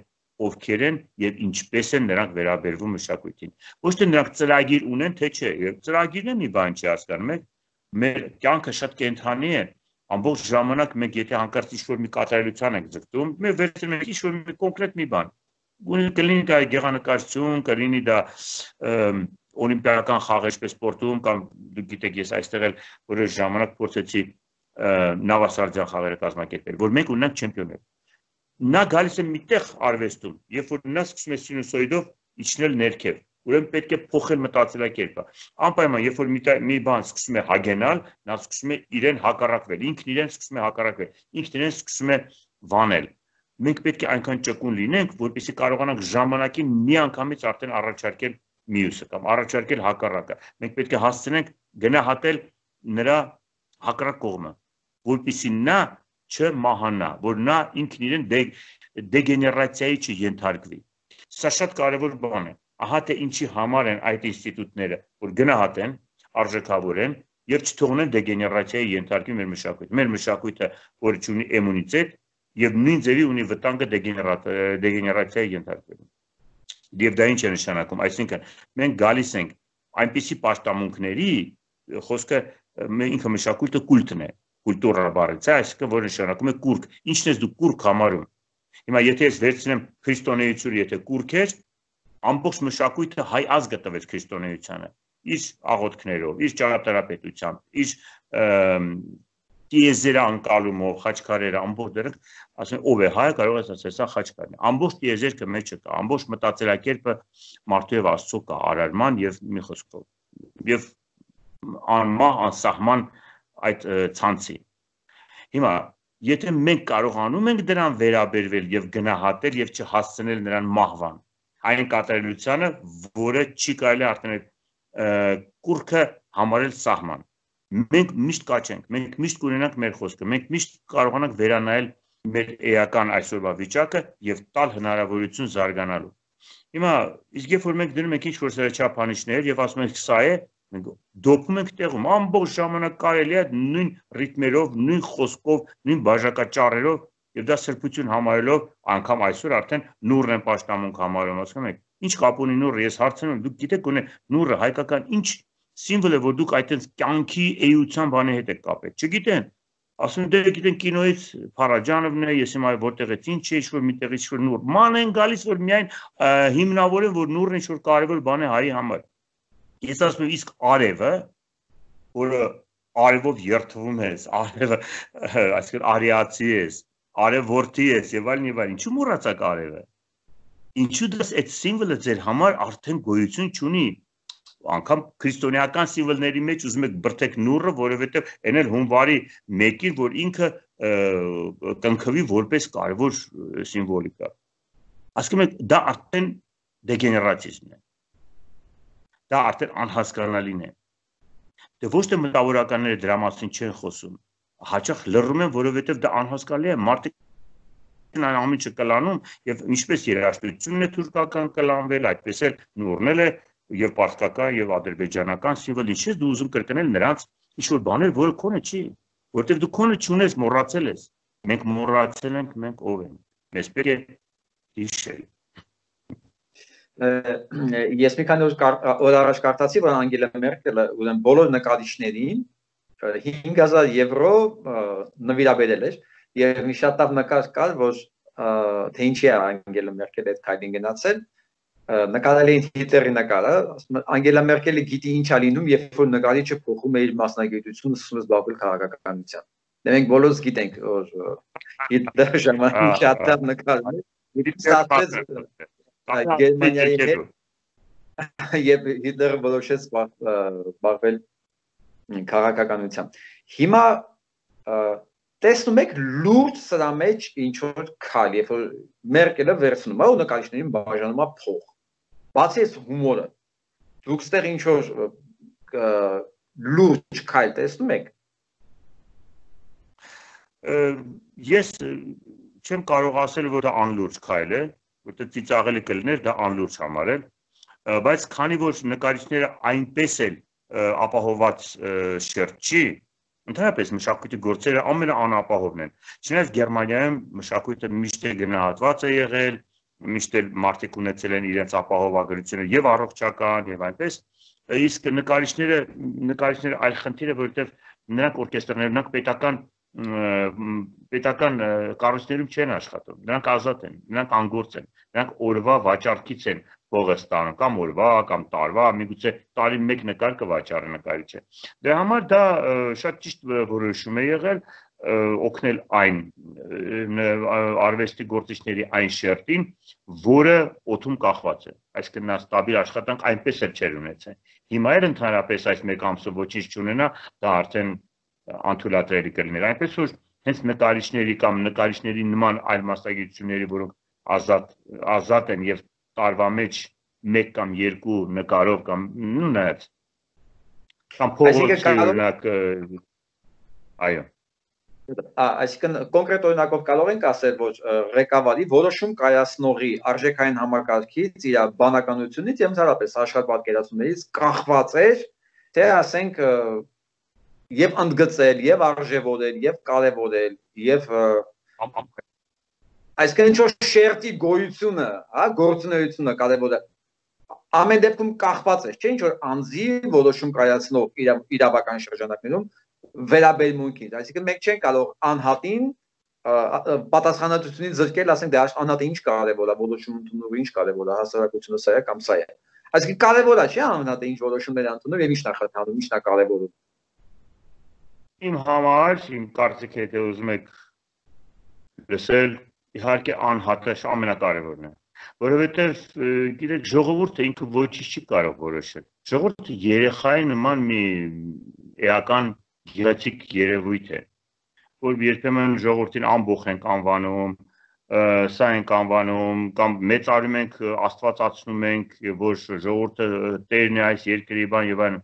B: ովքեր են եւ ինչպես են նրանք վերաբերվում մշակույթին։ Ոչ թե նրանք ծրագիր ունեն, թե չէ, եւ ծրագիրն է մի բան չի հասկանում եք, մեր կյանքը շատ կենթանի է, ամբողջ ժամանակ մենք եթե հանկարծ ինչ-որ մի կատարելության ենք ձգտում, մենք վերցնում ենք ինչ-որ մի կոնկրետ մի բան։ Կլինի դա գեղանկարչություն, կլինի դա օլիմպիական խաղ ինչպես սպորտում կամ դուք գիտեք ես այստեղ էլ որոշ ժամանակ փորձեցի նավասարդյան խաղերը կազմակերպել, որ մենք ունենք չեմպիոններ։ Նա գալիս է միտեղ արվեստում, երբ որ նա սկսում է սինուսոիդով իջնել ներքև, ուրեմն պետք է փոխել մտածելակերպը։ Անպայման, երբ որ մի բան սկսում է հագենալ, նա սկսում է իրեն հակառակվել, ինքն իրեն սկսում է հակառակվել, ինքն իրեն սկսում է վանել։ Մենք պետք է այնքան ճկուն լինենք, որպեսզի կարողանանք ժամանակին միանգամից արդեն առաջարկել մյուսը կամ առաջարկել հակառակը։ Մենք պետք է հասցնենք գնահատել նրա հակառակ կողմը, որպեսզի նա չմահանա, որ նա ինքն իրեն դեգեներացիայի չենթարկվի։ Սա շատ կարևոր բան է։ Ահա թե ինչի համար են այդ ինստիտուտները, որ գնահատեն, արժեքավորեն եւ չթողնեն դեգեներացիայի ենթարկվի մեր մշակույթը։ Մեր մշակույթը, որը ունի էմունիտետ եւ նույն ձևի ունի վտանգը դեգեներացիայի ենթարկվելու։ Եվ դա ինչ է նշանակում, այսինքն մենք գալիս ենք այնպիսի պաշտամունքների, խոսքը ինքը մշակույթը կուլտն է, կուլտուրա բառից է, այսինքն որ նշանակում է կուրք։ Ինչն ես դու կուրք համարում։ Հիմա եթե ես վերցնեմ քրիստոնեությունը, եթե կուրք էր, ամբողջ մշակույթը հայ ազգը տվեց քրիստոնեությանը, իր աղոթքներով, իր ճարտարապետությամբ, իր տիեզերը անկալումով, խաչքարերը, ամբողջ դրանք, ասեն ով է հայը, կարող ես ասել, սա խաչքարն է։ Ամբողջ տիեզերքը մեջը կա, ամբողջ մտածելակերպը մարդու եւ Աստծո կա, արարման եւ մի խոսքով։ Եվ անմահ, անսահման այդ ցանցի։ Հիմա եթե մենք կարողանում ենք դրան վերաբերվել եւ գնահատել եւ չհասցնել նրան մահվան, այն կատարելությանը, որը չի կարելի արդեն կուրքը համարել սահման։ Մենք միշտ կաչենք, մենք միշտ կունենանք մեր խոսքը, մենք միշտ կարողանանք վերանայել մեր էական այսօրվա վիճակը եւ տալ հնարավորություն զարգանալու։ Հիմա իսկ երբ որ մենք դնում ենք ինչ-որ սրաչափանիշներ եւ ասում ենք սա է, մենք դոփում ենք տեղում, ամբողջ ժամանակ կարելի է նույն ռիթմերով, նույն խոսքով, նույն բաժակաճառերով եւ դա սրբություն համարելով, անգամ այսօր արդեն նուրն են պաշտամունք համարում, ասում եք, ինչ կապ ունի նուրը, ես հարցնում եմ, դուք գիտեք ունե նուրը հայկական ինչ սիմվոլ է, որ դուք այդպես կյանքի էության բանի հետ եք կապել, չգիտեն, ասում դե գիտեն կինոից Փարաջանովն է, ես հիմա որտեղից ինչ է, ինչ-որ միտեղից ինչ-որ նուր, ման են գալիս, որ միայն հիմնավորեն, որ նուրն ինչ-որ կարևոր բան է հայի համար։ Ես ասում եմ, իսկ արևը, որը արևով երթվում ես, արևը, այսինքն արիացի ես, արևորդի ես եւ այլն եւ այլն, ինչու մոռացաք արևը։ Ինչու դες այդ սիմվոլը ձեր համար արդեն գոյություն չունի։ անգամ քրիստոնեական սիմվոլների մեջ ուզում եք բրթեք նուրը, որովհետև այն էլ հունվարի մեկին, որ ինքը կնքվի որպես կարևոր սիմվոլիկա։ Ասում եք, դա արդեն դեգեներատիզմն է։ Դա արդեն անհասկանալին է։ Դե ոչ թե մտավորականները դրա մասին չեն խոսում, հաճախ լռում են, որովհետև դա անհասկանալի է, մարդիկ այն ամիջը կլանում եւ ինչպես երաժշտությունն է թուրքական կլանվել, այդպես էլ նուրն է եւ պարսկական եւ ադրբեջանական սիմվոլ, ինչի՞ դու ուզում կրկնել նրանց ինչ որ բաներ, որը քոնը չի, որտեղ դու քոնը չունես, մոռացել ես։ Մենք մոռացել ենք, մենք ով ենք։ Մեզ պետք է հիշել։
A: Ես մի քանի օր առաջ կարդացի, որ Անգելա Մերկելը ուրեմն բոլոր նկարիչներին հինգ հազար եվրո նվիրաբերել էր եւ մի շատ լավ նկար կար, որ թե ինչի է Անգելա Մերկելը այդ քայլին գնացել, նկարել էին Հիտլերի նկարը, Անգելա Մերկելը գիտի ինչ է լինում, երբ որ նկարիչը փոխում է իր մասնագիտությունը, սկսում է զբաղվել քաղաքականությամբ։ Դե մենք բոլորս գիտենք, որ Հիտլերը ժամանակ շատ լավ նկարել է, ստացեց Գերմանիայի հետ եւ Հիտլերը որոշեց զբաղվել քաղաքականությամբ։ Հիմա տեսնում եք լուրջ սրա մեջ ինչ որ քայլ, երբ որ Մերկելը վերցնում է ու նկարիչներին բաժանում է փող։ Բացի այս հումորը, դուք ստեղ ինչ որ լուրջ քայլ տեսնում եք։
B: Ես չեմ կարող ասել, որ դա անլուրջ քայլ է, որտեղ ծիծաղելի կլիներ դա անլուրջ համարել, բայց քանի որ նկարիչները այնպես էլ ապահոված շերտ չի, ընդհանրապես մշակույթի գործերը ամենաանապահովն են։ Չնայած Գերմանիայում մշակույթը միշտ է գնահատված է եղել, միշտ էլ մարդիկ ունեցել են իրենց ապահովագրությունը եւ առողջական եւ այնպես, իսկ նկարիչները նկարիչները այլ խնդիր է, որովհետեւ նրանք օրկեստրներ, նրանք պետական պետական կառույցներում չեն աշխատում, նրանք ազատ են, նրանք անգործ են, նրանք օրվա վաճառքից են փողը ստանում, կամ օրվա, կամ տարվա, միգուցե տարի մեկ նկար կվաճառի նկարիչը։ Դրա համար դա շատ ճիշտ որոշում է եղել օգնել այն արվեստի գործիչների այն շերտին, որը օդում կախված է, այսինքն նա ստաբիլ աշխատանք այնպես էլ չէր ունեցել։ Հիմա էլ ընդհանրապես այս մեկ ամսով ոչինչ չունենա, դա արդեն անթույլատրելի կլիներ, այնպես որ հենց նկարիչների կամ նկարիչների նման այլ մասնագիտությունների, որոնք ազատ ազատ են եւ տարվա մեջ մեկ կամ երկու նկարով կամ նայած կամ փողոցի օրինակ այո
A: Այսինքն կոնկրետ օրինակով կարող ենք ասել, որ ղեկավարի որոշում կայացնողի արժեքային համակարգից, իր բանականությունից եւ ընդհանրապես աշխարհպատկերացումներից կախված էր, թե ասենք եւ ընդգծել, եւ արժեվորել, եւ կարեւորել, եւ այսինքն ինչ որ շերտի գոյությունը, հա, գործունեությունը կարևոր է։ Ամեն դեպքում կախված է, չէ՞, ինչ որ անձի որոշում կայացնող իրավական շրջանակներում վերաբերմունքից, այսինքն մենք չենք կարող անհատին պատասխանատվությունից զրկել, ասենք դե անհատը ինչ կարևոր է, որոշում ընդունողը ինչ կարևոր է, հասարակությունը սա է կամ սա է։ Այսինքն կարևոր է, չէ՞, անհատը ինչ որոշումներ ընդունում եւ ինչն է խթանում, ինչն է կարևորում։
B: Իմ համար, իմ կարծիքը, եթե ուզում եք լսել, իհարկե անհատը ամենակարևորն է, որովհետև գիտեք ժողովուրդը ինքը ոչինչ չի կարող որոշել։ Ժողովուրդը երեխայի նման մի էական գեղեցիկ երևույթ է, որ երբեմն ժողովրդին ամբոխ ենք անվանում, սա ենք անվանում, կամ մեծարում ենք, աստվածացնում ենք, որ ժողովուրդը տերն է այս երկրի բան եւ այլն։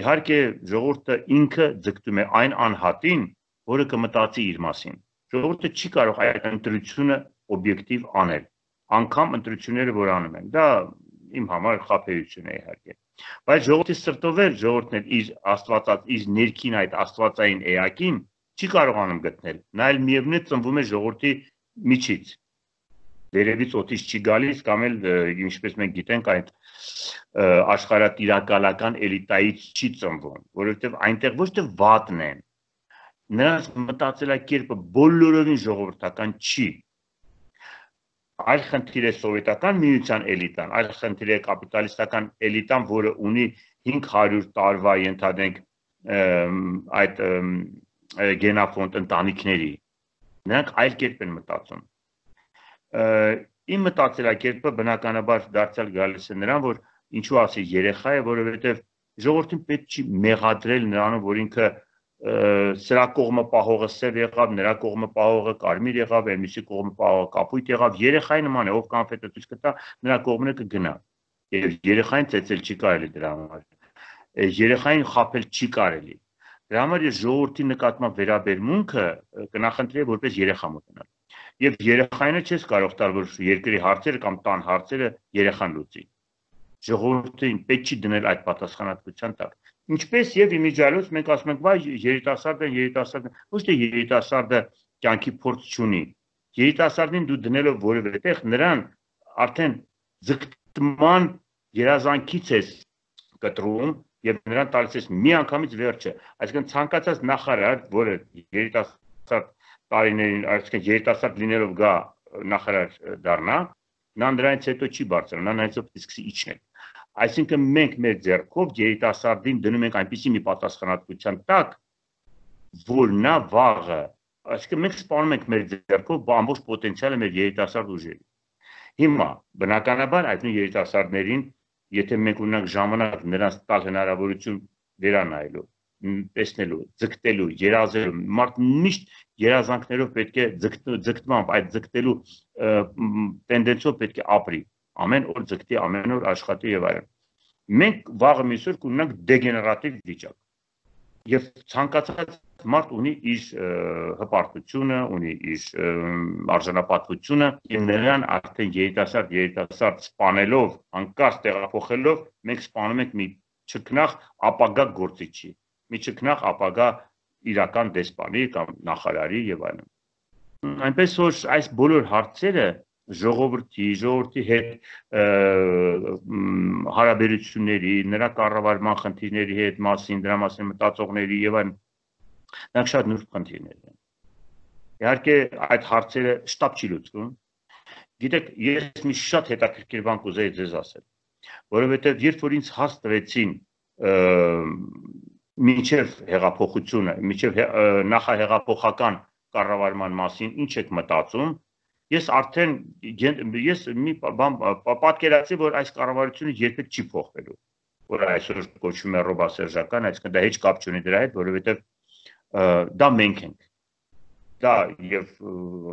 B: Իհարկե ժողովուրդը ինքը ձգտում է այն անհատին, որը կմտածի իր մասին։ Ժողովուրդը չի կարող այդ ընտրությունը օբյեկտիվ անել, անգամ ընտրությունները, որ անում են։ Դա իմ համար խաբեություն է իհարկե։ Բայց ժողովրդի սրտով էլ ժողովուրդն էլ իր աստվածած, իր ներքին այդ աստվածային էակին չի կարողանում գտնել։ Նա էլ միևնույն է ծնվում է ժողովրդի միջից։ Վերևից օդից չի գալիս, կամ էլ ինչպես մենք գիտենք, այդ աշխարհատիրակալական էլիտայից չի ծնվում, որովհետև այնտեղ ոչ թե վատն են, նրանց մտածելակերպը բոլորովին ժողովրդական չի։ Այլ խնդիր է սովետական միության էլիտան, այլ խնդիր է կապիտալիստական էլիտան, որը ունի հինգ հարյուր տարվա ենթադրենք այդ գենաֆոնդ ընտանիքների։ Նրանք այլ կերպ են մտածում։ Իմ մտածելակերպը բնականաբար դարձյալ գալիս է նրան, որ ինչու ասի երեխա է, որովհետև ժողովրդին պետք չի մեղադրել նրանով, որ ինքը սրա կողմը պահողը սև եղավ, նրա կողմը պահողը կարմիր եղավ, այլմիսի կողմը պահողը կապույտ եղավ, երեխայի նման է, ով կոնֆետը ցույց կտա, նրա կողմն է կգնա։ Եվ երեխային ծեծել չի կարելի դրա համար։ Երեխային խաբել չի կարելի։ Դրա համար ես ժողովրդի նկատմամբ վերաբերմունքը կնախընտրեի որպես երեխա մոտենալ։ Եվ երեխայինը չես կարող տալ, որ երկրի հարցերը կամ տան հարցերը երեխան լուծի։ Ժողովրդին պետք չի դնել այդ պատասխանատվության տակ։ Ինչպես եւ իմիջիալոց մենք ասում ենք, վայ երիտասարդը, երիտասարդը, ոչ թե երիտասարդը կյանքի փորձ չունի։ Երիտասարդին դու դնելով որևէ տեղ նրան արդեն ձգտման երազանքից ես կտրում եւ նրան տալիս ես մի անգամից վերջը։ Այսինքն ցանկացած նախարար, որը երիտասարդ տարիներին, այսինքն երիտասարդ լինելով գա նախարար դառնա, նա նրանից հետո չի բարձրանա, նա նրանից հետո սկսի իջնել։ Այսինքն մենք մեր ձեռքով երիտասարդին դնում ենք այնպիսի մի պատասխանատվության տակ, որ նա վաղը, այսինքն մենք սպանում ենք մեր ձեռքով ամբողջ պոտենցիալը մեր երիտասարդ ուժերի։ Հիմա բնականաբար այդ նույն երիտասարդներին, եթե մենք ունենանք ժամանակ նրանց տալ հնարավորություն վերանայելու, տեսնելու, ձգտելու, երազելու, մարդ միշտ երազանքներով պետք է ձգտմամբ, այդ ձգտելու տենդենսով պետք է ապրի, ամեն օր ձգտի, ամեն օր աշխատի եւ այլն։ Մենք վաղը միսօր կունենանք դեգեներատիվ վիճակ։ Եվ ցանկացած մարդ ունի իր հպարտությունը, ունի իր արժանապատվությունը, եւ նրան արդեն երիտասարդ երիտասարդ սպանելով, անկարծ տեղափոխելով, մենք սպանում ենք մի չքնաղ ապագա գործիչի, մի չքնաղ ապագա իրական դեսպանի կամ նախարարի եւ այլն։ Այնպես որ այս բոլոր հարցերը ժողովրդի, ժողովրդի հետ հարաբերությունների, նրա կառավարման խնդիրների հետ մասին, դրա մասին մտածողների եւ այլն, նրանք շատ նուրբ խնդիրներ են։ Իհարկե այդ հարցերը շտապ չի լուծվում։ Գիտեք, ես մի շատ հետաքրքիր բան կուզեի ձեզ ասել, որովհետեւ երբ որ ինձ հաս տվեցին մինչև հեղափոխությունը, մինչև նախահեղափոխական կառավարման մասին ինչ եք մտածում, ես արդեն ես մի բան պատկերացի, որ այս կառավարությունը երբեք չի փոխվելու, որ այսօր կոչվում է ռոբասերժական, այսինքն դա heç կապ չունի դրա հետ, որովհետև դա մենք ենք։ Դա եւ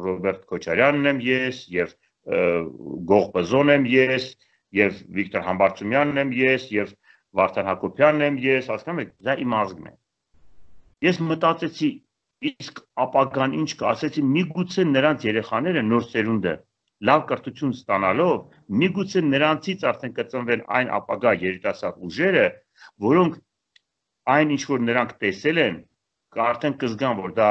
B: Ռոբերտ Քոչարյանն եմ ես, եւ Գող Բզոն եմ ես, եւ Վիկտոր Համբարձումյանն եմ ես, եւ Վարդան Հակոբյանն եմ ես, հասկանում եք, դա իմ ազգն է։ Ես մտածեցի, իսկ ապագան ինչ կա, ասեցի, միգուցե նրանց երեխաները նոր սերունդը լավ կրթություն ստանալով, միգուցե նրանցից արդեն կծնվեն այն ապագա երիտասարդ ուժերը, որոնք այն ինչ որ նրանք տեսել են, արդեն կզգան, որ դա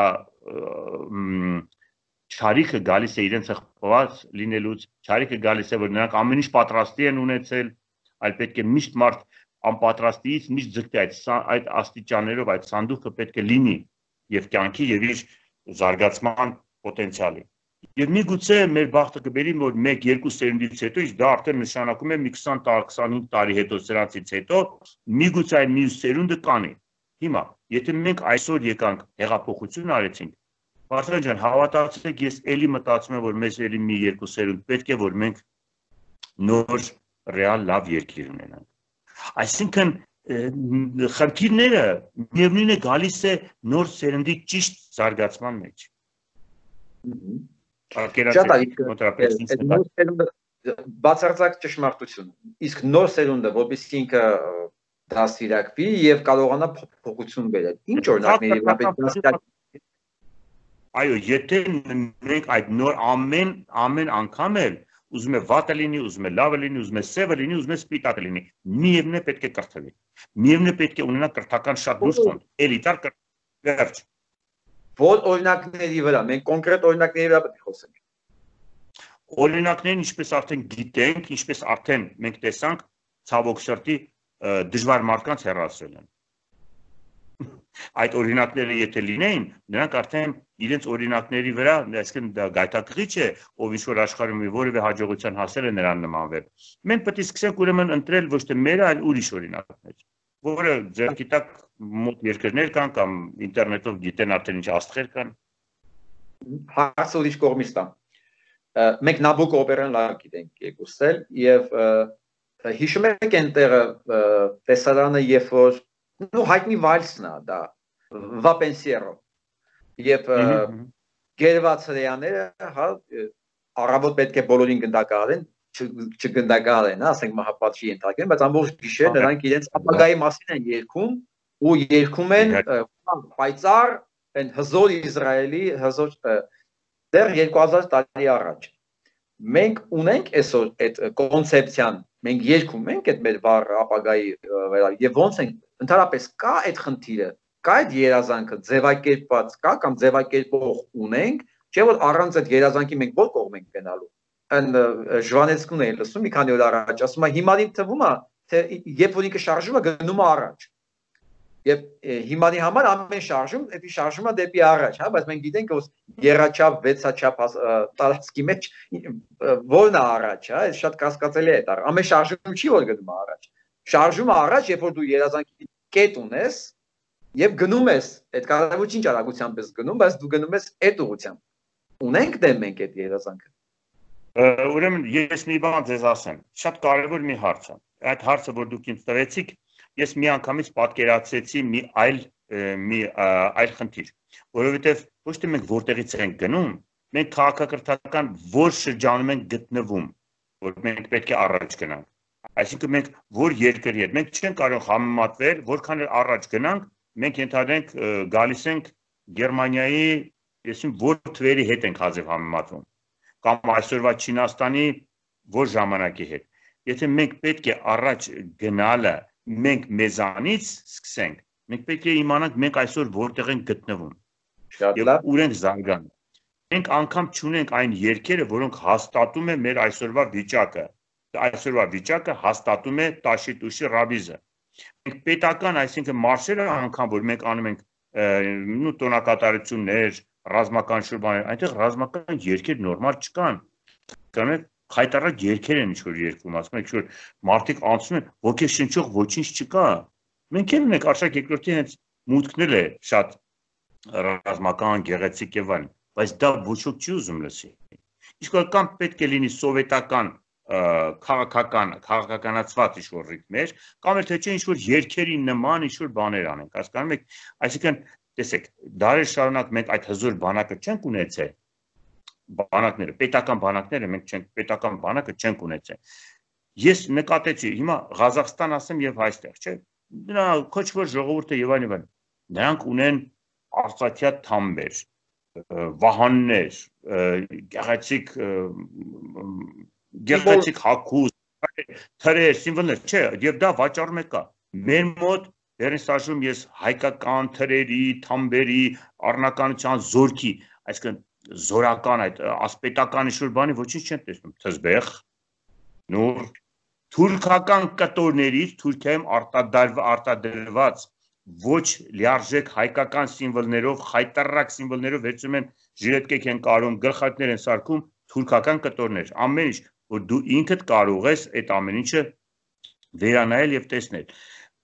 B: չարիքը գալիս է իրենց հղկված լինելուց, չարիքը գալիս է, որ նրանք ամեն ինչ պատրաստի են ունեցել, այլ պետք է միշտ մարդ անպատրաստիից միշտ ձգտի այդ այդ աստիճաններով այդ սանդուղքը պետք է լինի եւ կյանքի եւ իր զարգացման պոտենցիալի։ Եվ միգուցե մեր բախտը կբերի, որ մեկ երկու սերունդից հետո, իսկ դա արդեն նշանակում է մի քսան քսանհինգ տարի հետո սրանցից հետո, միգուցե այն մյուս սերունդը կանի։ Հիմա, եթե մենք այսօր եկանք հեղափոխություն արեցինք, Վարդան ջան, հավատացեք, ես էլի մտածում եմ, որ մեզ էլի մի երկու սերունդ պետք է, որ մենք նոր ռեալ լավ երկիր ունենանք։ Այսինքն խնդիրները միևնույն է գալիս է նոր սերնդի ճիշտ զարգացման մեջ։
A: Բացարձակ ճշմարտություն։ Իսկ նոր սերունդը, որպեսզի ինքը դաստիարակվի եւ կարողանա փոփոխություն բերել։ Ինչ օրինակների
B: Այո, եթե մենք այդ նոր ամեն ամեն անգամ էլ ուզում է վատը լինի, ուզում է լավը լինի, ուզում է սևը լինի, ուզում է սպիտակը լինի, միևնույն է պետք է կրթվի։ Միևնույն է պետք է ունենա կրթական շատ լուրջ ֆոնդ, էլիտար կրթ։
A: Որ օրինակների վրա, մենք կոնկրետ օրինակների վրա պետք է խոսենք։
B: Օրինակներն ինչպես արդեն գիտենք, ինչպես արդեն մենք տեսանք, ցավոք սրտի դժվար մարդկանց հեռացրել են։ Այդ օրինակները եթե լինեին, նրանք արդեն իրենց օրինակների վրա, այսինքն դա գայթակղիչ է, ով ինչ-որ աշխարհում որևէ հաջողության հասել է նրան նմանվել։ Մենք պետք է սկսենք ուրեմն ընտրել ոչ թե մեր, այլ ուրիշ օրինակներ, որը ձեռքի տակ մոտ երկրներ կան կամ ինտերնետով գիտեն արդեն ինչ աստղեր կան։
A: Հարցը ուրիշ կողմից տամ։ Մենք Նաբոկո օպերան լավ գիտենք երկուսել եւ հիշում եք այնտեղ տեսարանը, երբ որ նու հայտնի վալսն է դա վապենսիերո եւ գերված հրեաները հա առավոտ պետք է բոլորին գնդակահարեն չգնդակահարեն, ասենք մահապատժի ենթարկեն, բայց ամբողջ գիշեր նրանք իրենց ապագայի մասին են երգում ու երգում են պայծառ այն հզոր Իսրայելի հզոր դեռ երկու հազար տարի առաջ մենք ունենք այսօր այդ կոնցեպցիան, մենք երգում ենք այդ մեր վառ ապագայի վրա եւ ոնց են ընդհանրապես կա այդ խնդիրը, կա այդ երազանքը ձևակերպված կա կամ ձևակերպող ունենք, չէ՞ որ առանց այդ երազանքի մենք ո՞ր կողմ ենք գնալու։ Այն Ժվանեցկուն էի լսում մի քանի օր առաջ, ասում է հիմա ինձ թվում է թե երբ որ ինքը շարժում է գնում է առաջ։ Եվ հիմանի համար ամեն շարժում, դա շարժում է դեպի առաջ, հա, բայց մենք գիտենք որ երաչափ, վեցաչափ տարածքի մեջ որն է առաջ, հա, այս շատ կասկածելի է դա։ Ամեն շարժում չի որ գնում է առաջ։ Շարժումը առաջ, երբ որ դու երազանքի կետ ունես եւ գնում ես, այդ կարևորին ճարագությամբ ես գնում, բայց դու գնում ես այդ ուղղությամբ։ Ունենք դե մենք այդ երազանքը։
B: Ուրեմն ես մի բան ձեզ ասեմ, շատ կարևոր մի հարց է։ Այդ հարցը որ դուք ինձ տվեցիք, ես մի անգամից պատկերացրեցի մի այլ մի այլ խնդիր, որովհետև ոչ թե մենք որտեղից ենք գնում, մենք քաղաքակրթական որ շրջանում ենք գտնվում, որ մենք պետք է առաջ գնանք։ Այսինքն մենք որ երկրի հետ, մենք չենք կարող համեմատվել, որքան էլ առաջ գնանք, մենք ենթադրենք գալիս ենք Գերմանիայի, այսինքն որ թվերի հետ ենք հազիվ համեմատվում, կամ այսօրվա Չինաստանի որ ժամանակի հետ։ Եթե մենք պետք է առաջ գնալը մենք մեզանից սկսենք, մենք պետք է իմանանք մենք այսօր որտեղ ենք գտնվում եւ ուր ենք զարգանում։ Մենք անգամ չունենք այն երկերը, որոնք հաստատում են մեր այսօրվա վիճակը։ Այսօրվա վիճակը հաստատում է Տաշիտուշի Ռաբիզը։ Մենք պետական, այսինքն մարշերը անգամ որ մենք անում ենք նու տոնակատարություններ, ռազմական շուրբաներ, այնտեղ ռազմական երկեր նորմալ չկան։ Կանեք խայտարակ երկեր են ինչ-որ երկում, ասում եք որ մարդիկ անցնում են, ոգեշնչող ոչինչ չկա։ Մենք էլ ունենք Արշակ երկրորդի հենց մուտքն էլ է շատ ռազմական, գեղեցիկ եւ այլն, բայց դա ոչ ոք չի ուզում լսի։ Իսկ կամ պետք է լինի սովետական քաղաքական, քաղաքականացված ինչ-որ ռիթմեր, կամ էլ թե չէ ինչ-որ երկերի նման ինչ-որ բաներ անենք, հասկանում եք, այսինքն տեսեք, դարեր շարունակ մենք այդ հզոր բանակը չենք ունեցել, բանակները, պետական բանակները մենք չենք, պետական բանակը չենք ունեցել։ Ես նկատեցի, հիմա Ղազախստան ասեմ եւ այստեղ, չէ՞։ Դրա քոչվոր ժողովուրդը եւ այլն եւ այլն։ Նրանք ունեն արծաթյա թամբեր, վահաններ, գեղեցիկ գեղեցիկ հագուստ, թրեր, սիմվոլներ, չէ, եւ դա վաճառում է կա։ Մեր մոտ դերին սաշում ես հայկական թրերի, թամբերի, առնականության զորքի, այսինքն զորական այդ ասպետական ինչ-որ բանի ոչինչ չեն տեսնում, թզբեղ, նուր, թուրքական կտորներից Թուրքիայում արտադրված ոչ լիարժեք հայկական սիմվոլներով, խայտարակ սիմվոլներով վերցում են ժիրետկեք են կարում, գլխարկներ են սարքում թուրքական կտորներ, ամեն ինչ, որ դու ինքդ կարող ես այդ ամեն ինչը վերանայել եւ տեսնել։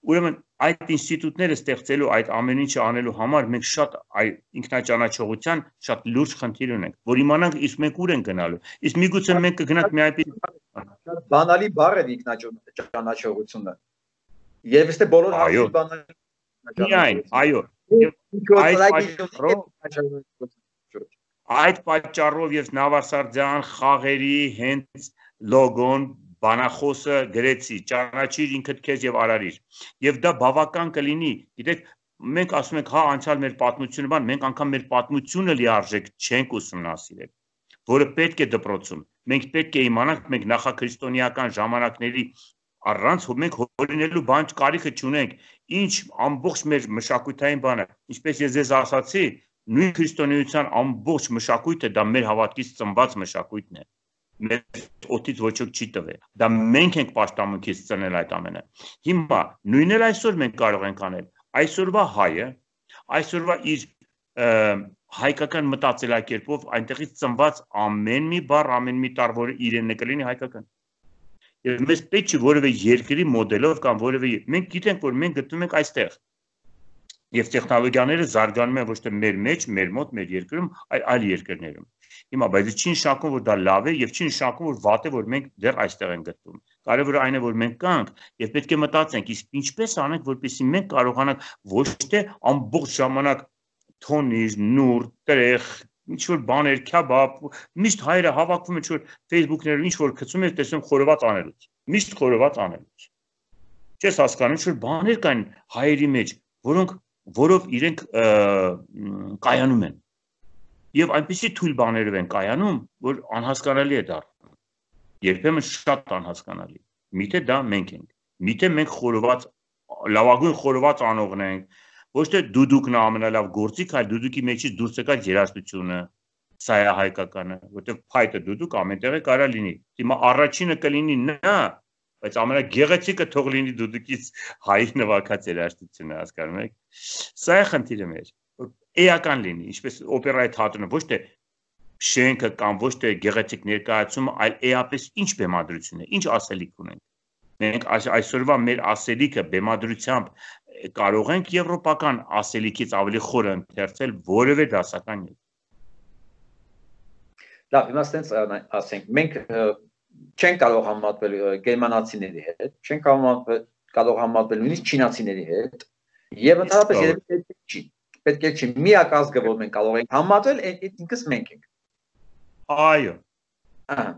B: Ուրեմն այդ ինստիտուտները ստեղծելու այդ ամեն ինչը անելու համար մենք շատ ինքնաճանաչողության շատ լուրջ խնդիր ունենք, որ իմանանք իսկ մենք ուր են գնալու։ Իսկ միգուցե մենք կգնանք մի այլ
A: շատ բանալի բառ է ինքնաճանաչողությունը։ Եվ իստե բոլոր հարցի բանալի
B: Միայն, այո։ Այդ պատճառով եւ Նավասարդյան խաղերի հենց լոգոն բանախոսը գրեցի, ճանաչիր ինքդ քեզ եւ արարիր։ Եվ դա բավական կլինի, գիտեք, մենք ասում ենք, հա, անցյալ մեր պատմությունը, բան, մենք անգամ մեր պատմությունը լիարժեք չենք ուսումնասիրել, որը պետք է դպրոցում։ Մենք պետք է իմանանք, մենք նախաքրիստոնեական ժամանակների առանց մենք հորինելու բան կարիքը չունենք, ինչ ամբողջ մեր մշակութային բանը, ինչպես ես ձեզ ասացի, նույն քրիստոնեության ամբողջ մշակույթը դա մեր հավատքից ծնված մշակույթն է։ Մեր օդից ոչ ոք չի տվել։ Դա մենք ենք պաշտամունքից ծնել այդ ամենը։ Հիմա նույնն էլ այսօր մենք կարող ենք անել։ Այսօրվա հայը, այսօրվա իր հայկական մտածելակերպով այնտեղից ծնված ամեն մի բառ, ամեն մի տառ, որը իրենն է կլինի հայկական։ Եվ մեզ պետք չի որևէ երկրի մոդելով կամ որևէ մենք գիտենք, որ մենք գտնվում ենք այստեղ։ Եվ տեխնոլոգիաները զարգանում են ոչ թե մեր մեջ, մեր մոտ, մեր երկրում, այլ այլ երկրներում։ Հիմա բայց չի նշանակում, որ դա լավ է եւ չի նշանակում, որ վատ է, որ մենք դեռ այստեղ ենք գտնվում։ կարևորը այն է, որ մենք կանք եւ պետք է մտածենք, իսկ ինչպես անենք, որպեսզի մենք կարողանանք ոչ թե ամբողջ ժամանակ թոնիր, նուր, տրեղ, ինչ որ բաներ, քյաբաբ, միշտ հայերը հավաքվում են ինչ որ Facebook-ներում ինչ որ գցում են, տեսնում խորոված անելուց, միշտ խորոված անելուց։ Չես հասկանում, ինչ որ բաներ կան հայերի մեջ, որոնք որով իրենք կայանում են։ Եվ այնպիսի թույլ բաներով են կայանում, որ անհասկանալի է դառնում։ Երբեմն շատ անհասկանալի։ Միթե դա մենք ենք։ Միթե մենք խորոված, լավագույն խորոված անողն ենք, ոչ թե դուդուկն է ամենալավ գործիք, այլ դուդուկի մեջից դուրս եկած երաժշտությունը, սա է հայկականը, որտեղ փայտը դուդուկ ամենտեղ է կարա լինի։ Հիմա առաջինը կլինի նա, բայց ամենագեղեցիկը թող լինի դուդուկից հայ նվագած երաժշտությունը, հասկանում եք։ Սա է խնդիրը մեր, որ էական լինի, ինչպես օպերայի թատրոնը, ոչ թե շենքը կամ ոչ թե գեղեցիկ ներկայացումը, այլ էապես ինչ բեմադրություն է, ինչ ասելիք ունենք։ Մենք այսօրվա մեր ասելիքը բեմադրությամբ կարող ենք եվրոպական ասելիքից ավելի խորը ընթերցել որևէ դասական երգ։
A: Լավ, հիմա ստենց ասենք, մենք չենք կարող համատվել գերմանացիների հետ, չենք կարող համատվել նույնիսկ չինացիների հետ, եւ ընդհանրապես երևի չի, պետք է չի, միակ ազգը, որ մենք կարող ենք համատվել, ինքս մենք ենք։
B: Այո։
A: Ահա։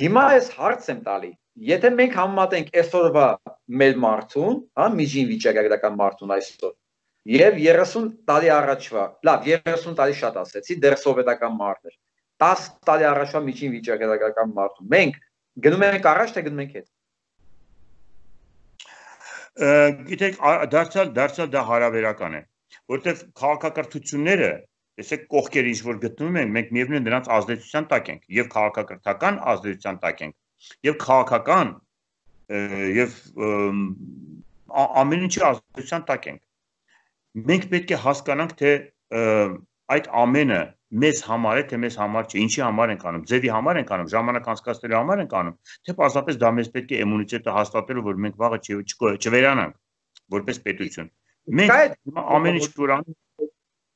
A: Հիմա ես հարց եմ տալի, եթե մենք համատենք այսօրվա մեր մարդուն, հա, միջին վիճակագրական մարդուն այսօր, եւ երեսուն տարի առաջվա, լավ, երեսուն տարի շատ ասեցի, դեռ սովետական մարդ էր, տասը տարի առաջվա միջին վիճակագրական մարդուն, մենք գնում ենք առաջ, թե գնում ենք հետ։
B: Գիտեք, դարձյալ դարձյալ դա հարաբերական է, որտեղ քաղաքակրթությունները, տեսեք կողքերը ինչ որ գտնվում են, մենք միևնույն դրանց ազդեցության տակ ենք, եւ քաղաքակրթական ազդեցության տակ ենք, եւ քաղաքական եւ ամեն ինչի ազդեցության տակ ենք։ Մենք պետք է հասկանանք, թե այդ ամենը մեզ համար է, թե մեզ համար չէ, ինչի համար ենք անում, ձևի համար ենք անում, ժամանակ անցկացնելու համար ենք անում, թե պարզապես դա մեզ պետք է իմունիտետը հաստատելու, որ մենք վաղը չվերանանք որպես պետություն։ Մենք ամեն ինչ որ անում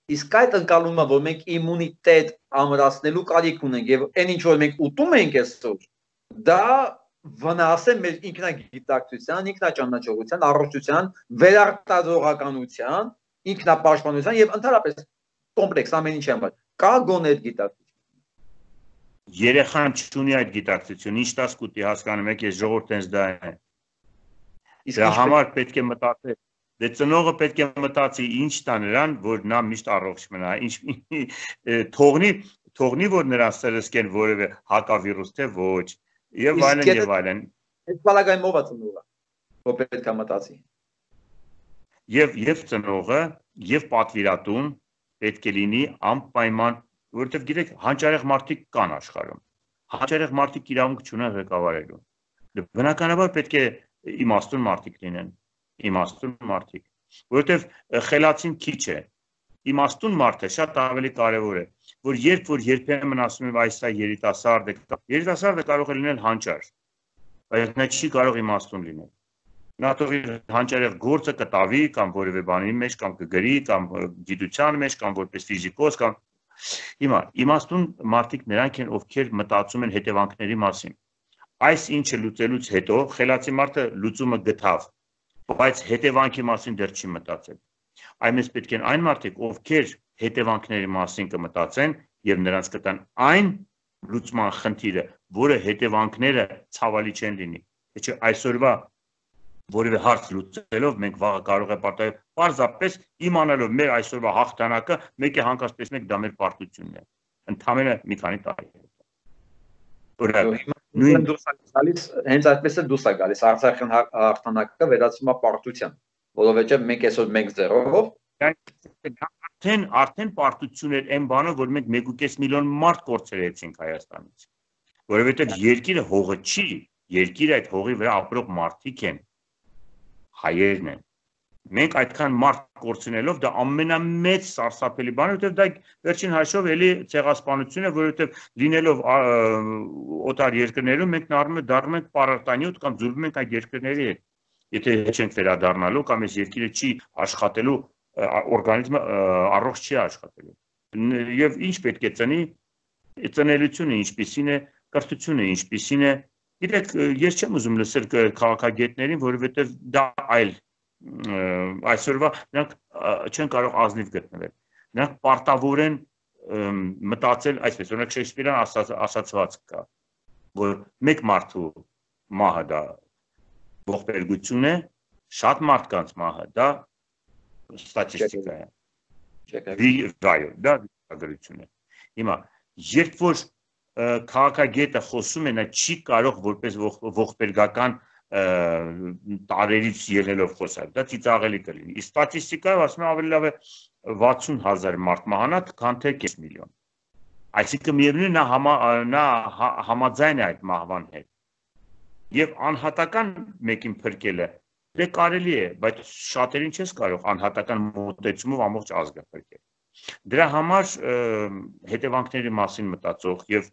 A: Իսկ այդ ընկալումը, որ մենք իմունիտետ ամրացնելու կարիք ունենք եւ այն ինչ որ մենք ուտում ենք այսօր, դա վնաս է մեր ինքնագիտակցության, ինքնաճանաչողության, առողջության, վերարտադրողականության, ինքնապաշտպանության եւ ընդհանրապես կոմպլեքս ամեն ինչի համար։ Կա գոնե այդ գիտակցություն։
B: Երեխան չունի այդ գիտակցություն, ինչ տաս կուտի, հասկանում եք, ես ժողովուրդ տենց դա է։ Դրա համար պետք է մտածել։ Դե ծնողը պետք է մտածի ինչ տա նրան, որ նա միշտ առողջ մնա, ինչ թողնի, թողնի որ նրան սրսկեն որևէ հակավիրուս, թե ոչ, եւ այլն եւ այլն։
A: Այդ բալագայմով է ծնողը, որ պետք է մտածի։
B: Եվ եւ ծնողը, եւ պատվիրատուն պետք է լինի անպայման, որովհետեւ գիտեք, հանճարեղ մարդիկ կան աշխարհում։ Հանճարեղ մարդիկ իրավունք չունեն ղեկավարելու։ Բնականաբար պետք է իմաստուն մարդիկ լինեն։ Իմաստուն մարդիկ, որովհետև խելացին քիչ է, իմաստուն մարդը շատ ավելի կարևոր է, որ երբ որ երբեմն ասում եմ այս է երիտասարդ է, երիտասարդը կարող է լինել հանճար, բայց նա չի կարող իմաստուն լինել։ Նա թող իր հանճարեղ գործը կտավի կամ որևէ բանի մեջ կամ կգրի կամ գիտության մեջ կամ որպես ֆիզիկոս կամ հիմա իմաստուն մարդիկ նրանք են, ովքեր մտածում են հետևանքների մասին։ Այս ինչը լուծելուց հետո խելացի մարդը լուծումը գտավ, բայց հետևանքի մասին դեռ չի մտածել։ Այնպես պետք են այն մարդիկ, ովքեր հետևանքների մասին կմտածեն եւ նրանց կտան այն լուծման խնդիրը, որը հետևանքները ցավալի չեն լինի։ Չէ, այսօրվա որևէ հարց լուծելով մենք վաղը կարող է պատահել պարզապես իմանալով մեր այսօրվա հաղթանակը, մեկ է հանկարծ տեսնենք դա մեր պարտությունն է։ Ընդամենը մի քանի տարի։
A: Նույն դուրս է գալիս, հենց այդպես է դուրս է գալիս Արցախյան հաղթանակը վերածվում է պարտության, որովհետև մենք այսօր մեկ զերով
B: արդեն արդեն պարտություն էր այն բանը, որ մենք մեկ ու կես միլիոն մարդ կորցրեցինք Հայաստանից, որովհետև երկիրը հողը չի, երկիրը այդ հողի վրա ապրող մարդիկ են, հայերն են։ Մենք այդքան մարդ կորցնելով դա ամենամեծ սարսափելի բան է, որովհետև դա վերջին հաշվով էլի ցեղասպանություն է, որովհետև լինելով օտար երկրներում մենք դառնում ենք պարարտանյութ կամ ձուլվում ենք այդ երկրների հետ։ Եթե չենք վերադառնալու կամ այս երկիրը չի աշխատելու, օրգանիզմը առողջ չի աշխատելու։ Եվ ինչ պետք է ծնի, ծնելիությունը ինչպիսին է, կրթությունը ինչպիսին է, Գիտեք, ես չեմ ուզում լսել քաղաքագետներին, որովհետև դա այլ այսօրվա նրանք չեն կարող ազնիվ գտնվել։ Նրանք պարտավոր են մտածել այսպես, օրինակ Շեքսպիրյան ասացված կա, որ մեկ մարդու մահը դա ողբերգություն է, շատ մարդկանց մահը դա ստատիստիկա է։ Վայո, դա գրություն է։ Հիմա, երբ որ քաղաքագետը խոսում է, նա չի կարող որպես ողբերգական տարերից ելնելով խոսալ, դա ծիծաղելի կլինի։ Իսկ ստատիստիկայով ասում եմ ավելի լավ է վաթսուն հազար մարդ մահանա, քան թե կես միլիոն։ Այսինքն միևնույն նա համաձայն է այդ մահվան հետ։ Եվ անհատական մեկին փրկելը դե կարելի է, բայց շատերին չես կարող անհատական մոտեցումով ամբողջ ազգը փրկել։ Դրա համար հետևանքների մասին մտածող եւ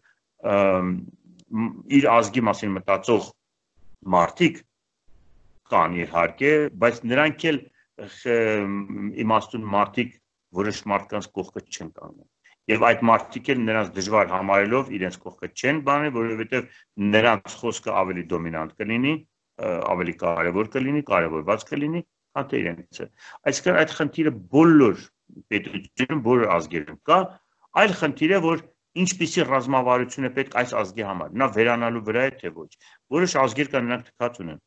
B: իր ազգի մասին մտածող մարդիկ կան իհարկե, բայց նրանք էլ իմաստուն մարդիկ որոշ մարդկանց կողքը չեն կանգնում։ Եվ այդ մարդիկ էլ նրանց դժվար համարելով իրենց կողքը չեն բանել, որովհետև նրանց խոսքը ավելի դոմինանտ կլինի, ավելի կարևոր կլինի, կարևորված կլինի, քան թե իրենցը։ Այսինքն այդ խնդիրը բոլոր պետություններում, բոլոր ազգերում կա, այլ խնդիր է, որ ինչպիսի ռազմավարություն է պետք այս ազգի համար, նա վերանալու վրա է թե ոչ։ Որոշ ազգեր կան, նրանք թքած ունեն։